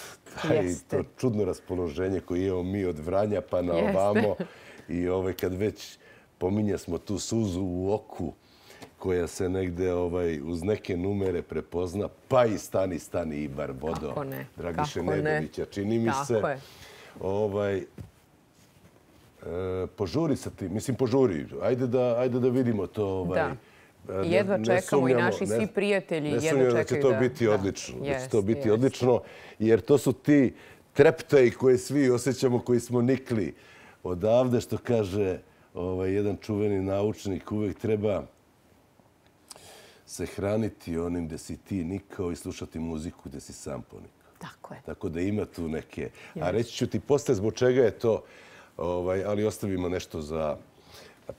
to čudno raspoloženje koje imamo mi od Vranja pa na ovamo i kad već pominja smo tu suzu u oku koja se negde uz neke numere prepozna, pa i Stani i Barvodo Dragiše Nedovića, čini mi se. Požuri sa tim, mislim požuri, ajde da vidimo to. Jedva čekamo i naši svi prijatelji jedva čekaju da... Ne sumnjam da će to biti odlično, da će to biti odlično, jer to su ti treptaji koje svi osjećamo, koji smo nikli odavde, što kaže jedan čuveni naučnik, uvek treba se hraniti onim gde si ti nikao i slušati muziku gde si sam ponikao. Tako je. Tako da ima tu neke... A reći ću ti posle zbog čega je to, ali ostavimo nešto za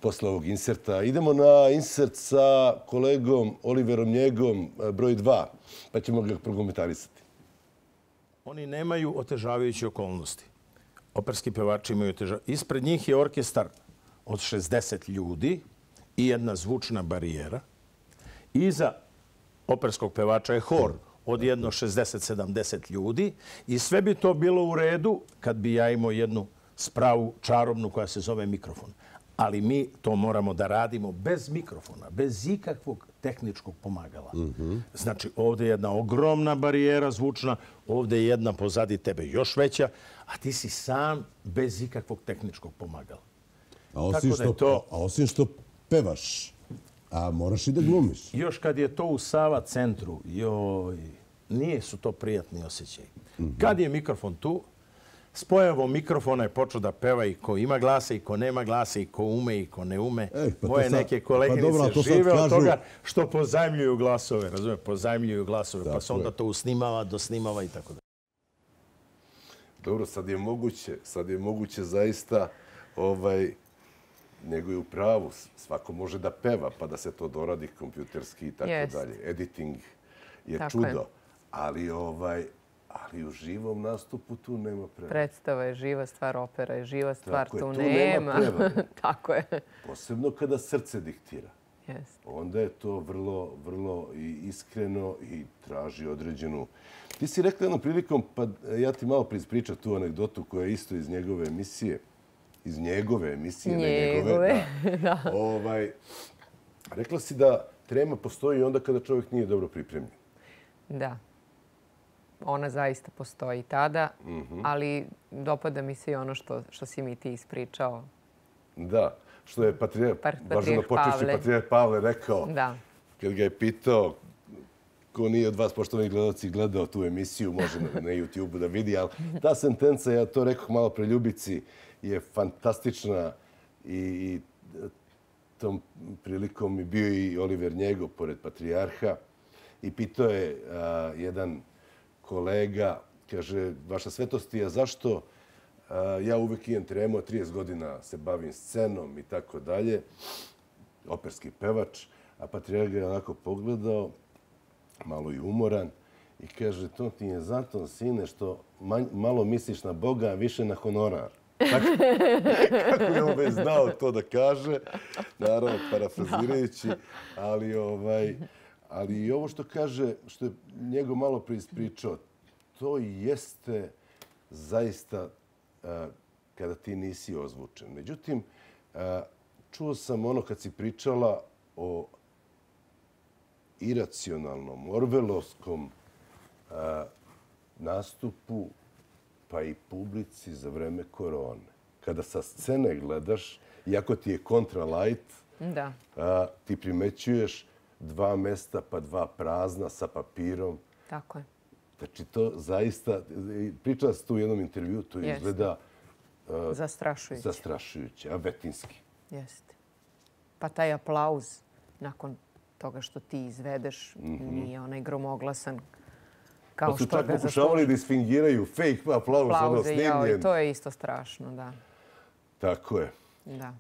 posle ovog inserta. Idemo na insert sa kolegom Oliverom Njegom, broj 2, pa ćemo ga prokomentarisati. Oni nemaju otežavajuće okolnosti. Operski pevači imaju otežavajuće. Ispred njih je orkestar od 60 ljudi i jedna zvučna barijera. Iza operskog pevača je hor od jedno 60-70 ljudi i sve bi to bilo u redu kad bi ja imao jednu spravu čarobnu koja se zove mikrofon. Ali mi to moramo da radimo bez mikrofona, bez ikakvog tehničkog pomagala. Znači, ovdje je jedna ogromna barijera zvučna, ovdje je jedna pozadi tebe još veća, a ti si sam bez ikakvog tehničkog pomagala. A osim što pevaš, a moraš i da glumiš. Još kad je to u Sava centru, nije su to prijatni osjećaj. Kad je mikrofon tu, s pojavom mikrofona je počeo da peva i ko ima glasa i ko nema glasa i ko ume i ko ne ume. Moje neke koleginice žive od toga što pozajmljuju glasove, razumije, pozajmljuju glasove, pa se onda to usnimava, dosnimava i tako da. Dobro, sad je moguće zaista, nego je u pravu, svako može da peva, pa da se to doradi kompjuterski i tako dalje. Editing je čudo, ali u živom nastupu tu nema prevode. Predstava je živa stvar, opera je živa stvar, tu nema. Tako je. Posebno kada srce diktira. Onda je to vrlo iskreno i traži određenu... Ti si rekla jednom prilikom, pa ja ti malo ispričam tu anegdotu koja je isto iz njegove emisije. Iz njegove emisije, ne njegove. Rekla si da trema postoji onda kada čovjek nije dobro pripremljen. Da. Ona zaista postoji tada, ali dopada mi se i ono što si mi ti ispričao. Da, što je patrijarh Pavle rekao kad ga je pitao ko nije od vas, poštovani gledalci, gledao tu emisiju, može na YouTube-u da vidi, ali ta sentenca, ja to rekao malo pre Ljubici, je fantastična i tom prilikom je bio i Oliver Njego pored patrijarha i pitao je jedan kolega, kaže, vaša svetosti, a zašto ja uvijek imam tremu, 30 godina se bavim scenom i tako dalje, operski pevač, a patrijarh ga je onako pogledao, malo i umoran, i kaže, to ti je zato, sine, što malo misliš na Boga, a više na honorar. Kako je ovaj znao to da kaže, naravno, parafrazirajući, ali i ovo što kaže, što je njegov malo preispričao, to jeste zaista kada ti nisi ozvučen. Međutim, čuo sam ono kad si pričala o iracionalnom, orvelovskom nastupu pa i publici za vreme korone. Kada sa scene gledaš, iako ti je kontra light, ti primećuješ 2 mesta pa 2 prazna sa papirom. Tako je. Znači, to zaista, pričala sam tu u jednom intervju, to izgleda zastrašujuće, a vetinski. Jeste. Pa taj aplauz nakon toga što ti izvedeš nije onaj gromoglasan kao što ga zasluži. Pa su čak pokušavali da isfingiraju fake aplauz, ono snimljen. To je isto strašno, da. Tako je.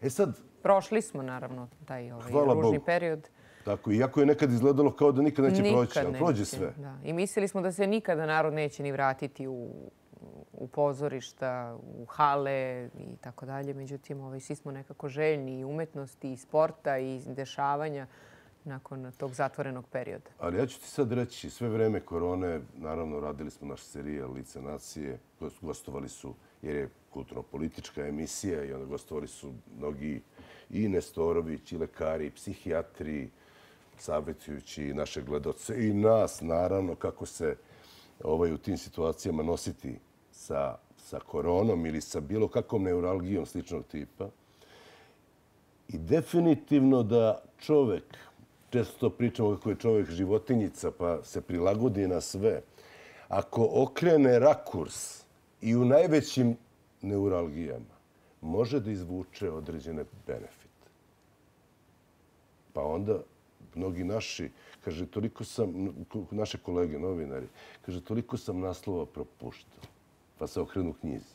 E sad... Prošli smo, naravno, taj ružni period. Tako, iako je nekad izgledalo kao da nikad neće proći, ali prođe sve. I mislili smo da se nikada narod neće ni vratiti u pozorišta, u hale i tako dalje. Međutim, svi smo nekako željni i umetnosti, i sporta, i dešavanja nakon tog zatvorenog perioda. Ali ja ću ti sad reći, sve vreme korone, naravno, radili smo naš serijal Lice nacije, gostovali su, jer je kulturno-politička emisija, i onda gostovali su mnogi i Nestorović, i lekari, i psihijatri, savjetujući naše gledaoce i nas, naravno, kako se u tim situacijama nositi sa koronom ili sa bilo kakvom neuralgijom sličnog tipa. I definitivno da čovek, često pričamo kako je čovek životinjica pa se prilagodi na sve, ako okrene rakurs i u najvećim neuralgijama, može da izvuče određene benefite. Pa onda mnogi naši, kaže, toliko sam, naše kolege, novinari, kaže, toliko sam naslova propuštao, pa se okrenu knjizi.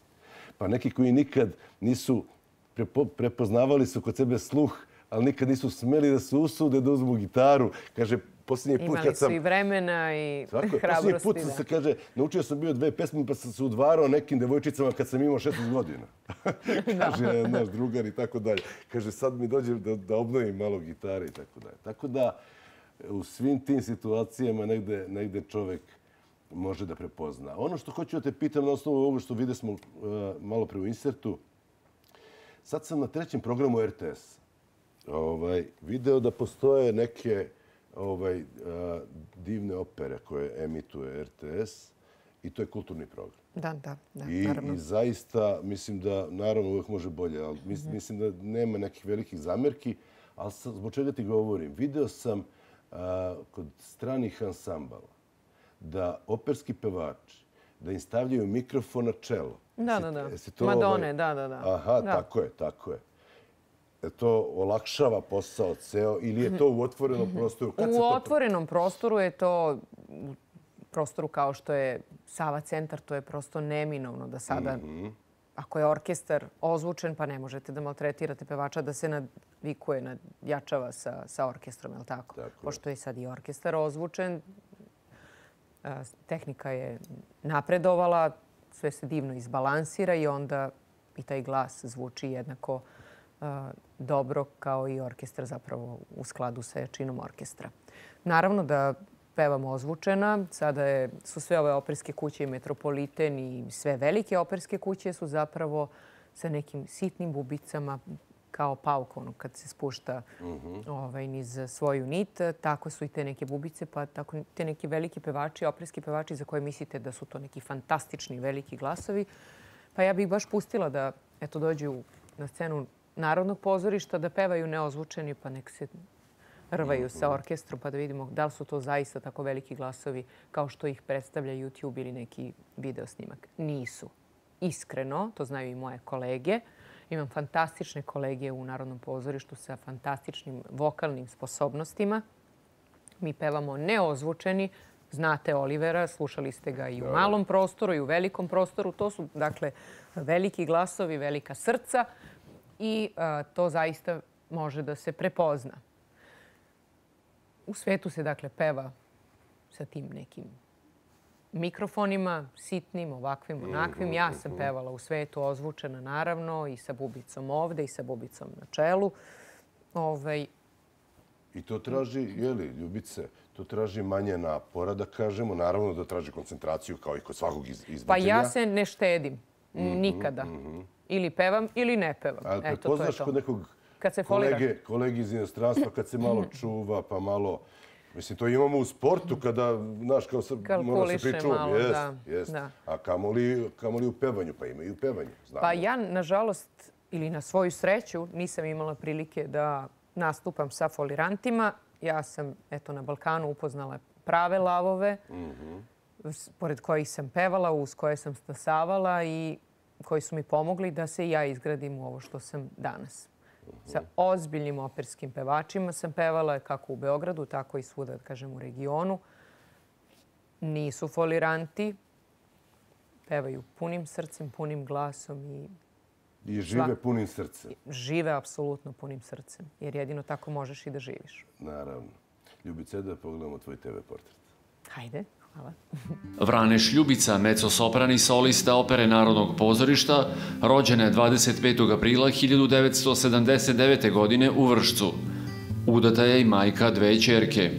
Pa neki koji nikad nisu prepoznavali su kod sebe sluh, ali nikad nisu smeli da se usude da uzmu gitaru. Kaže, posljednji put kad sam... Imali su i vremena i hrabrosti. Posljednji put sam se, kaže, naučio sam bio 2 pesme pa sam se udvarao nekim devojčicama kad sam imao 16 godina. Kaže, naš drugar i tako dalje. Kaže, sad mi dođe da obnovim malo gitare i tako dalje. Tako da, u svim tim situacijama negde čovek može da prepozna. Ono što hoću da te pitam na osnovu ovoga što vide smo malo pre u insertu, sad sam na 3. programu RTS video da postoje neke divne opere koje emituje RTS i to je kulturni program. Da, naravno. I zaista mislim da, naravno, uvijek može bolje, ali mislim da nema nekih velikih zamerki, ali zbog čega ti govorim? Video sam kod stranih ansambala da operski pevači, da im stavljaju mikrofon na čelo. Da. Madone, da. Aha, tako je. To olakšava posao ceo ili je to u otvorenom prostoru? U otvorenom prostoru je to, u prostoru kao što je Sava centar, to je prosto neminovno da sada, ako je orkestar ozvučen, pa ne možete da maltretirate pevača da se navikuje, nadjačava sa orkestrom, je li tako? Pošto je sad i orkestar ozvučen, tehnika je napredovala, sve se divno izbalansira i onda i taj glas zvuči jednako dobro kao i orkestar zapravo u skladu sa jačinom orkestra. Naravno da pevamo ozvučena. Sada su sve ove operske kuće i Metropoliten i sve velike operske kuće su zapravo sa nekim sitnim bubicama kao pauk, kad se spušta niz svoju nit. Tako su i te neke bubice, pa tako te neki veliki pevači, operski pevači za koje mislite da su to neki fantastični veliki glasovi. Pa ja bih baš pustila da dođu na scenu Narodnog pozorišta, da pevaju neozvučeni, pa nek se rvaju sa orkestrom, pa da vidimo da li su to zaista tako veliki glasovi kao što ih predstavlja YouTube ili neki video snimak. Nisu. Iskreno, to znaju i moje kolege. Imam fantastične kolege u Narodnom pozorištu sa fantastičnim vokalnim sposobnostima. Mi pevamo neozvučeni. Znate Olivera, slušali ste ga i u malom prostoru i u velikom prostoru. To su, dakle, veliki glasovi, velika srca i to zaista može da se prepozna. U svetu se, dakle, peva sa tim nekim mikrofonima, sitnim, ovakvim, onakvim. Ja sam pevala u svetu ozvučena, naravno, i sa bubicom ovde i sa bubicom na čelu. I to traži, Ljubice, to traži manje napora, da kažemo. Naravno da traži koncentraciju kao i kod svakog izvođenja. Pa ja se ne štedim. Nikada. Ili pevam ili ne pevam. Ali prepoznaš kod nekog kolege iz inostranstva kad se malo čuva, pa malo... Mislim, to imamo u sportu kada, znaš, kao mora se pričuvam. Jest. A kamoli u pevanju, pa ima i u pevanju. Pa ja, nažalost, ili na svoju sreću, nisam imala prilike da nastupam sa folirantima. Ja sam, na Balkanu upoznala prave lavove, pored kojih sam pevala, uz koje sam stasavala i koji su mi pomogli da se ja izgradim u ovo što sam danas. Sa ozbiljnim operskim pevačima sam pevala kako u Beogradu, tako i svuda, da kažem, u regionu. Nisu foliranti, pevaju punim srcem, punim glasom i žive punim srcem. Žive apsolutno punim srcem, jer jedino tako možeš i da živiš. Naravno. Ljubice, da pogledamo tvoj TV portret. Hajde, hvala. Vraneš Ljubica, mezzo-soprani solista Opere Narodnog pozorišta, rođena je 25. aprila 1979. godine u Vršcu. Udata je i majka 2 ćerke.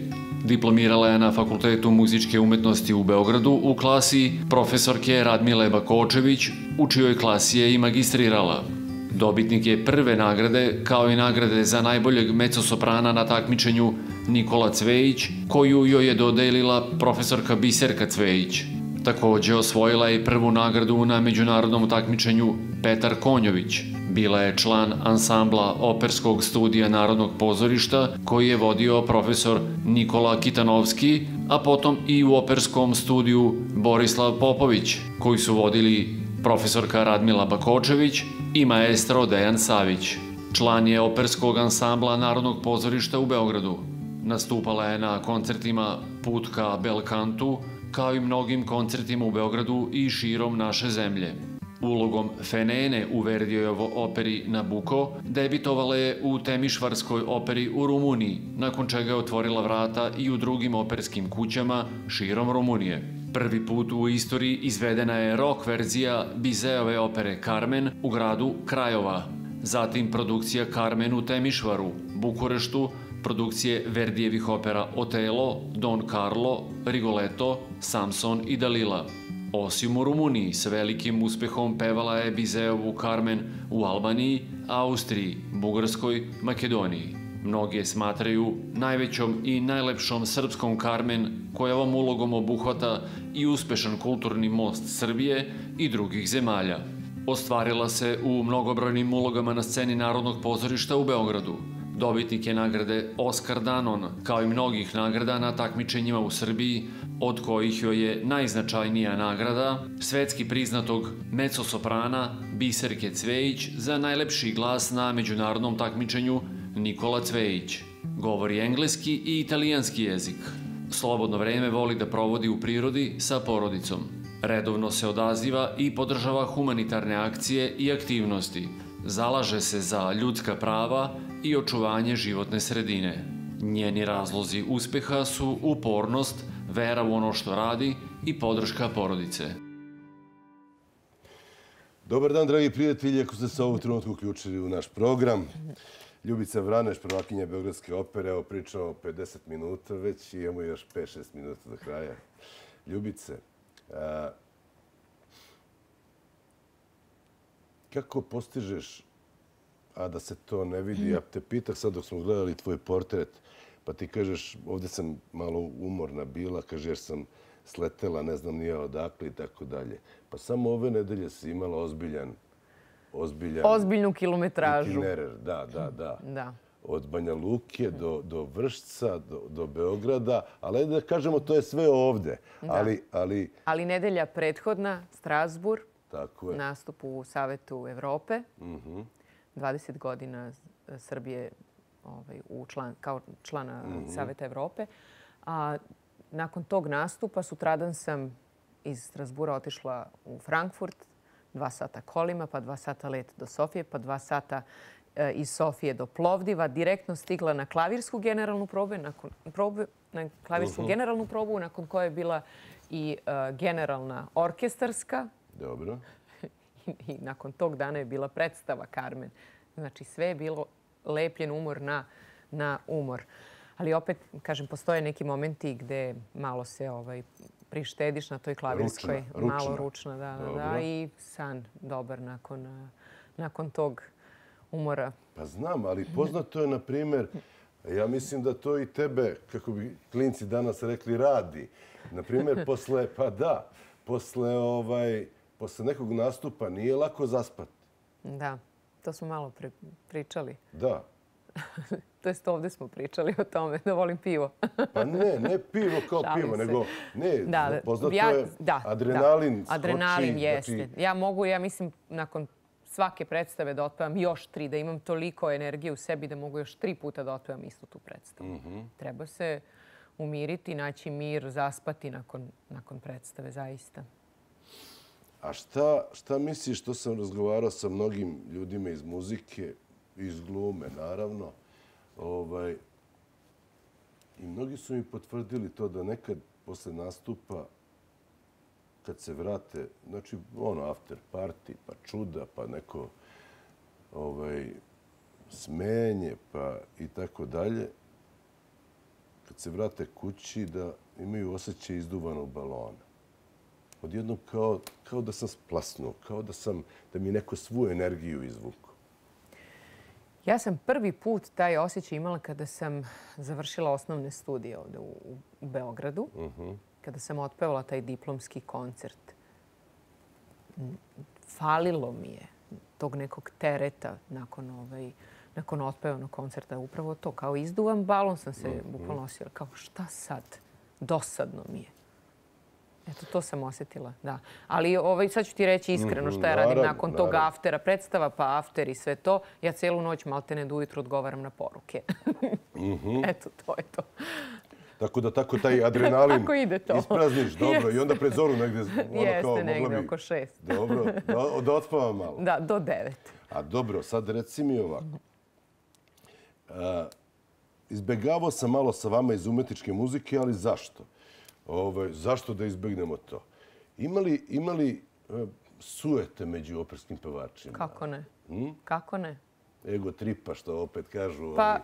Diplomirala je na Fakultetu muzičke umetnosti u Beogradu u klasi profesorke Radmile Bakočević, u čijoj klasi je i magistrirala. Dobitnik je prve nagrade, kao i nagrade za najboljeg mezzo-soprana na takmičenju Nikola Cvejić, koju joj je dodelila profesorka Biserka Cvejić. Također osvojila je prvu nagradu na međunarodnom takmičenju Petar Konjović. Bila je član ansambla operskog studija Narodnog pozorišta koji je vodio profesor Nikola Kitanovski, a potom i u operskom studiju Borislav Popović, koji su vodili profesorka Radmila Bakočević i maestro Dejan Savić. Član je operskog ansambla Narodnog pozorišta u Beogradu. Nastupala je na koncertima Put ka Belkantu, kao i mnogim koncertima u Beogradu i širom naše zemlje. Ulogom Fenene u Verdijevoj operi Nabuko debitovala je u Temišvarskoj operi u Rumuniji, nakon čega je otvorila vrata i u drugim operskim kućama širom Rumunije. Prvi put u istoriji izvedena je rock verzija Bizeove opere Carmen u gradu Krajova. Zatim produkcija Carmen u Temišvaru, Bukureštu, produkcije Verdijevih opera Otelo, Don Carlo, Rigoletto, Samson i Dalila. Osim u Rumuniji, s velikim uspehom pevala je Bizeovu Carmen u Albaniji, Austriji, Bugarskoj, Makedoniji. Mnogi je smatraju najvećom i najlepšom srpskom Carmen, koja ovom ulogom obuhvata i uspešan kulturni most Srbije i drugih zemalja. Ostvarila se u mnogobrojnim ulogama na sceni Narodnog pozorišta u Beogradu. Dobitnik je nagrade Oskar Danon, kao i mnogih nagrada na takmičenjima u Srbiji, od kojih joj je najznačajnija nagrada svetski priznatog mezzosoprana Biserke Cvejić za najlepši glas na međunarodnom takmičenju Nikola Cvejić. Govori engleski i italijanski jezik. Slobodno vreme voli da provodi u prirodi sa porodicom. Redovno se odaziva i podržava humanitarne akcije i aktivnosti. Zalaže se za ljudska prava i očuvanje životne sredine. Njeni razlozi uspeha su upornost, vera u ono što radi i podrška porodice. Dobar dan, dragi prijatelji, ako ste se ovog trenutku uključili u naš program. Ljubica Vraneš, prvakinja Beogradske opere, evo pričamo 50 minuta već i imamo još 5-6 minuta do kraja. Ljubice, kako postižeš, a da se to ne vidi? Ja te pitah sad dok smo gledali tvoj portret, pa ti kažeš, ovdje sam malo umorna bila, kaže jer sam sletela, ne znam nije odakle i tako dalje. Pa samo ove nedelje si imala ozbiljnu kilometražu. Itinerar, da. Od Banja Luke do Vršca, do Beograda, ali da kažemo to je sve ovde. Ali nedelja prethodna, Strasbourg, nastup u Savetu Evrope, 20 godina Srbije kao člana Saveta Evrope. A nakon tog nastupa sutradan sam iz Strasbura otišla u Frankfurt, 2 sata kolima, pa 2 sata let do Sofije, pa 2 sata iz Sofije do Plovdiva. Direktno stigla na klavirsku generalnu probu, nakon koje je bila i generalna orkestarska. Dobro. I nakon tog dana je bila predstava Carmen. Znači sve je bilo lepljen umor na umor. Ali opet, kažem, postoje neki momenti gde malo se prištediš na toj klavirskoj. Malo ručna, da. I san dobar nakon tog umora. Pa znam, ali poznato je, na primjer, ja mislim da to i tebe, kako bi klinci danas rekli, radi. Na primjer, posle nekog nastupa nije lako zaspati. Da, to smo malo pričali. Da. To jest ovdje smo pričali o tome da volim pivo. Pa ne pivo kao pivo, nego poznato je adrenalin skoči. Adrenalin jeste. Ja mislim nakon svake predstave da otpevam još 3, da imam toliko energije u sebi da mogu još 3 puta da otpevam istu tu predstavu. Treba se umiriti, naći mir, zaspati nakon predstave, zaista. A šta misliš, što sam razgovarao sa mnogim ljudima iz muzike, iz glume, naravno, i mnogi su mi potvrdili to da nekad posle nastupa, kad se vrate, znači after party, pa čuda, pa neko smenje, pa i tako dalje, kad se vrate kući da imaju osjećaj izduvanog balona. Odjednom kao da sam splasnuo, kao da mi neko svu energiju izvuku. Ja sam prvi put taj osjećaj imala kada sam završila osnovne studije ovdje u Beogradu, kada sam otpevala taj diplomski koncert. Falilo mi je tog nekog tereta nakon otpevanog koncerta. Upravo to, kao izduvan balon sam se bukvalno osjetila. Kao šta sad? Dosadno mi je. Eto, to sam osjetila, da. Ali sad ću ti reći iskreno šta ja radim nakon tog aftera. Predstava pa after i sve to. Ja celu noć maltene do ujutru odgovaram na poruke. Eto, to je to. Tako da taj adrenalin Kako ide to? isprazniš, dobro. I onda pred zoru negde, Jeste, negde oko 6. Dobro, da odspavam malo. Da, do 9. A dobro, sad reci mi ovako. Izbegavao sam malo sa vama iz umetničke muzike, ali zašto? Zašto da izbegnemo to? Ima li sujete među operskim pevačima? Kako ne? Kako ne? Ego tripa, što opet kažu. Pa,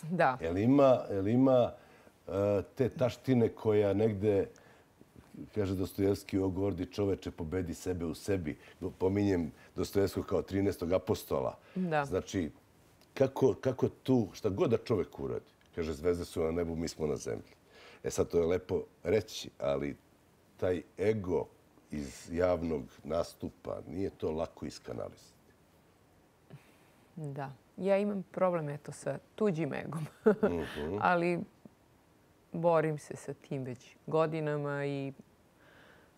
da. Jel ima te taštine koja negde, kaže Dostojevski, o gordi čoveče, pobedi sebe u sebi. Pominjem Dostojevskog kao 13. apostola. Da. Znači, kako tu, šta god da čovek uradi, kaže, zvezde su na nebu, mi smo na zemlji. Sad, to je lepo reći, ali taj ego iz javnog nastupa nije to lako iskanalizati. Da. Ja imam problem sa tuđim egom. Ali borim se sa tim već godinama i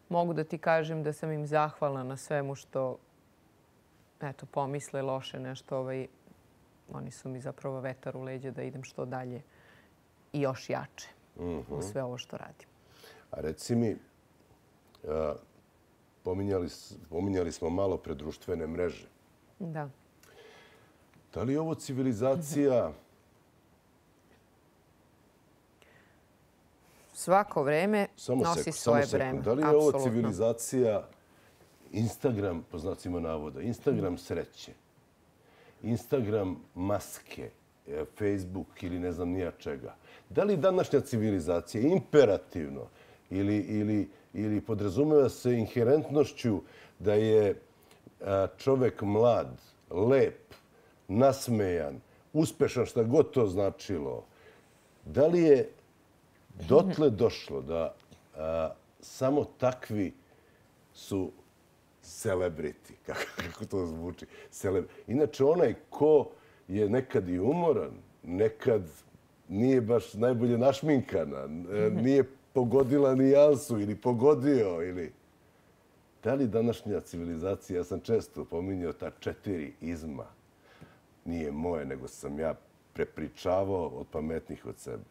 mogu da ti kažem da sam im zahvalna na svemu što pomisle loše nešto. Oni su mi zapravo vetar u leđa da idem što dalje i još jače u sve ovo što radim. A reci mi, pominjali smo malo pre društvene mreže. Da. Da li je ovo civilizacija? Svako vreme nosi svoje breme. Da li je ovo civilizacija Instagram, po znacima navoda, Instagram sreće, Instagram maske, Facebook ili ne znam nija čega? Da li današnja civilizacija imperativno ili podrazumeva se inherentnošću da je čovek mlad, lep, nasmejan, uspešan, šta god to značilo, da li je dotle došlo da samo takvi su celebrity, kako to zvuči. Inače, onaj ko je nekad i umoran, nekad nije baš najbolje našminkana, nije pogodila nijansu ili pogodio, ili... Da li današnja civilizacija, ja sam često pominjao ta 4 izma, nije moje, nego sam ja prepričavao od pametnih od sebe.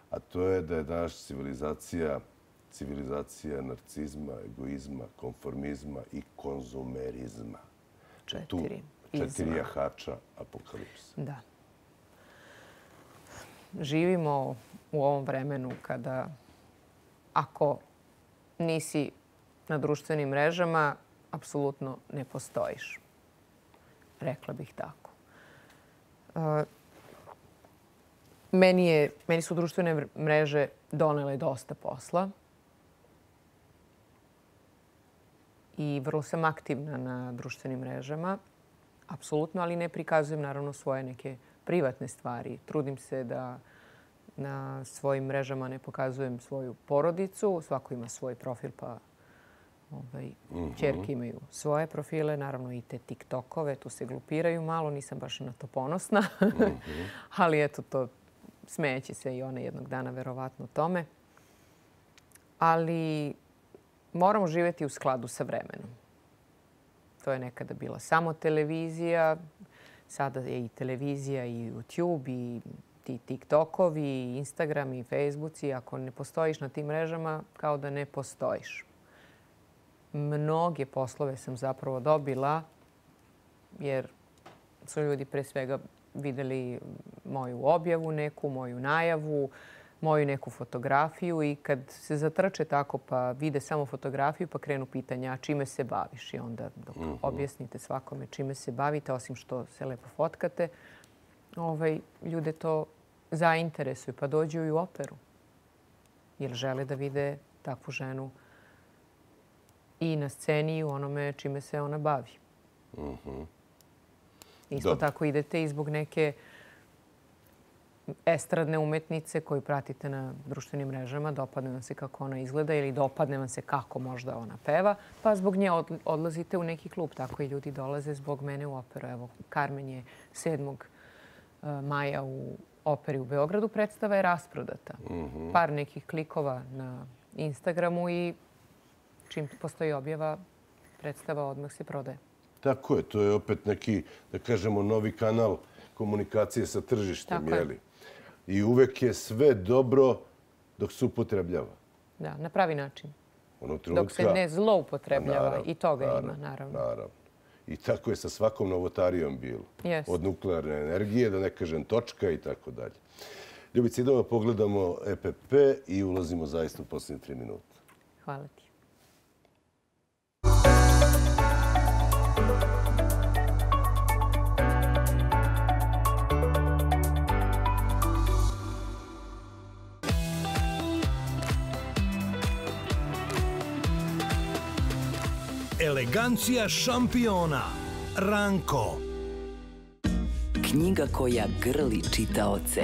A to je da je današnja civilizacija narcizma, egoizma, konformizma i konzumerizma. 4 4 jahača apokalipsa. Da. Živimo u ovom vremenu kada ako nisi na društvenim mrežama, apsolutno ne postojiš. Rekla bih tako. Meni su društvene mreže donele dosta posla i vrlo sam aktivna na društvenim mrežama, apsolutno, ali ne prikazujem naravno svoje neke privatne stvari. Trudim se da na svojim mrežama ne pokazujem svoju porodicu. Svako ima svoj profil, pa ćerke imaju svoje profile, naravno i te TikTokove, tu se glupiraju malo, nisam baš na to ponosna, ali eto to smejeće se i one jednog dana verovatno tome. Ali moramo živjeti u skladu sa vremenom. To je nekada bila samo televizija, sada je i televizija i YouTube i ti TikTokovi, i Instagram i Facebooci. Ako ne postojiš na tim mrežama, kao da ne postojiš. Mnoge poslove sam zapravo dobila jer su ljudi pre svega videli moju objavu neku, moju najavu, moju neku fotografiju i kad se zatrče tako pa vide samo fotografiju pa krenu pitanja čime se baviš i onda dok objasnite svakome čime se bavite, osim što se lepo fotkate, ljude to zainteresuju pa dođu i u operu jer žele da vide takvu ženu i na sceni i u onome čime se ona bavi. Isto tako idete i zbog neke estradne umetnice koju pratite na društvenim mrežama, dopadne vam se kako ona izgleda ili dopadne vam se kako možda ona peva, pa zbog nje odlazite u neki klub. Tako i ljudi dolaze zbog mene u operu. Evo, Carmen je 7. maja u operi u Beogradu. Predstava je rasprodata. Par nekih klikova na Instagramu i čim postoji objava, predstava odmah se prodaje. Tako je. To je opet neki, da kažemo, novi kanal komunikacije sa tržištem. I uvek je sve dobro dok se upotrebljava. Da, na pravi način. Onog Dok se ne zloupotrebljava. I toga ima, naravno. Naravno. I tako je sa svakom novotarijom bilo. Od nuklearne energije, da ne kažem točka i tako dalje. Ljubica, idemo da pogledamo EPP i ulazimo zaista u posljednje 3 minuta. Hvala ti. Elegancija šampiona. Ranko. Knjiga koja grli čitaoce.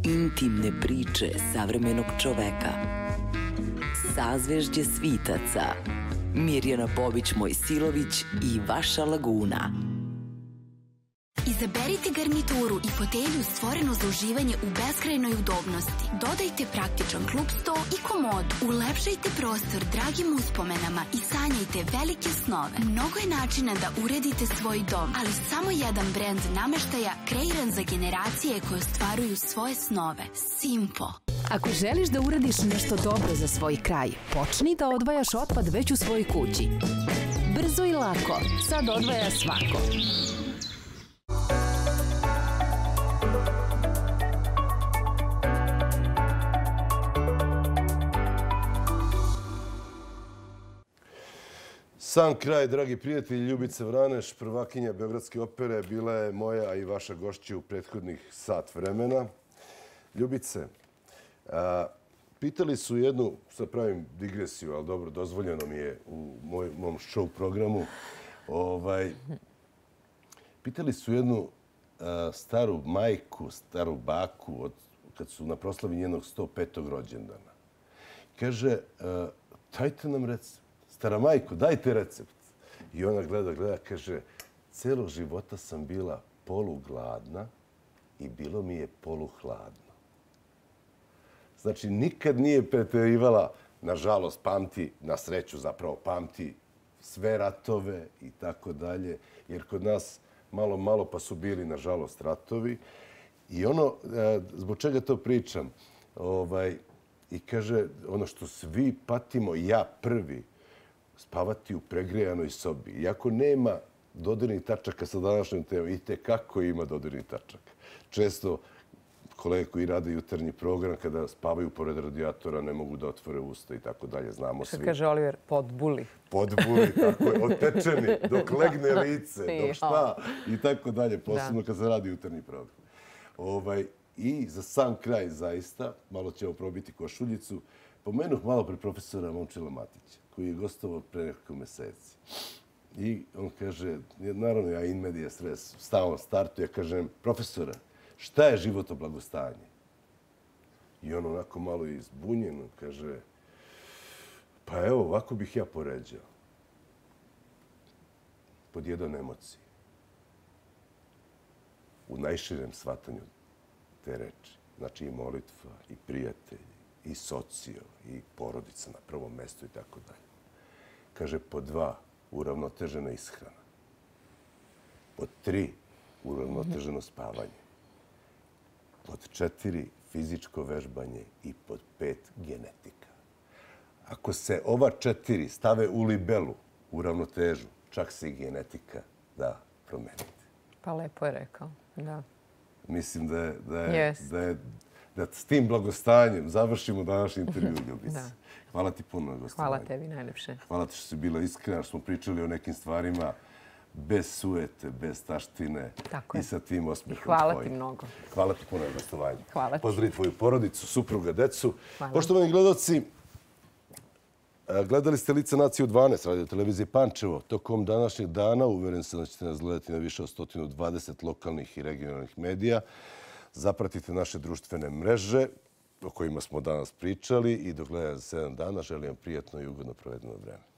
Intimne priče savremenog čoveka. Sazvežđe svitaca. Mirjana Bobić-Mojsilović i Vaša laguna. Izaberite garnituru i fotelju stvorenu za uživanje u beskrajnoj udobnosti. Dodajte praktičan klub sto i komod. Ulepšajte prostor dragim uspomenama i sanjajte velike snove. Mnogo je načina da uredite svoj dom, ali samo jedan brend nameštaja kreiran za generacije koje ostvaruju svoje snove. Simpo. Ako želiš da uradiš nešto dobro za svoj kraj, počni da odvajaš otpad već u svojoj kući. Brzo i lako. Sad odvaja svako. Sam kraj, dragi prijatelji, Ljubica Vraneš, prvakinja Beogradske opere, bila je moja i vaša gošća u prethodnih sat vremena. Ljubice, pitali su jednu, sad pravim digresiju, ali dobro, dozvoljeno mi je u mom show programu, pitali su jednu staru majku, staru baku, kad su na proslavi njenog 105. rođendana. Kaže, dajte nam recept. Stara majko, dajte recept. I ona gleda, kaže, celog života sam bila polugladna i bilo mi je poluhladno. Znači, nikad nije preterivala, nažalost, pamti, na sreću zapravo pamti sve ratove i tako dalje, jer kod nas malo pa su bili, nažalost, ratovi. I ono, zbog čega to pričam, i kaže, ono što svi patimo, ja prvi, spavati u pregrejanoj sobi. Iako nema dodirnih tačaka sa današnjom temom, i tekako ima dodirnih tačaka. Često kolege koji rade jutarnji program, kada spavaju pored radijatora, ne mogu da otvore usta i tako dalje. Znamo svi. Što kaže Oliver, podbuli. Podbuli, tako je. Otečeni, dok legne lice, dok šta i tako dalje. Posebno kad se radi jutarnji program. I za sam kraj, zaista, malo ćemo probiti košuljicu, pomenuh malo pre profesora Momčila Matića, koji je gostovao pre nekoliko meseci. I on kaže, naravno ja in media stres, stalno startu, ja kažem, profesora, šta je životno blagostanje? I on onako malo izbunjeno kaže, pa evo, ovako bih ja poređao. Pod jedan emociji. U najširem shvatanju te reči. Znači i molitva, i prijatelji, i socio, i porodica na prvom mestu i tako dalje. Kaže, pod 2, uravnotežena ishrana. Pod 3, uravnoteženo spavanje. Pod 4, fizičko vežbanje i pod 5, genetika. Ako se ova 4 stave u libelu, u ravnotežu, čak se i genetika da promeniti. Pa lepo je rekao, da. Mislim da s tim blagostanjem završimo današnji intervju, Ljubice. Hvala ti puno na gostovanju. Hvala tebi najlepše. Hvala ti što si bila iskrena, što smo pričali o nekim stvarima bez suete, bez taštine i sa tim osmehom tvojim. Hvala ti mnogo. Hvala ti puno na gostovanju. Hvala ti. Pozdravi tvoju porodicu, supruga, decu. Poštovani gledalci, gledali ste Lice nacije u 12, radio televizije Pančevo. Tokom današnjeg dana uveren sam da ćete nas gledati na više od 120 lokalnih i regionalnih medija. Zapratite naše društvene mreže o kojima smo danas pričali i do gledanja za 7 dana želim vam prijatno i ugodno provedeno vreme.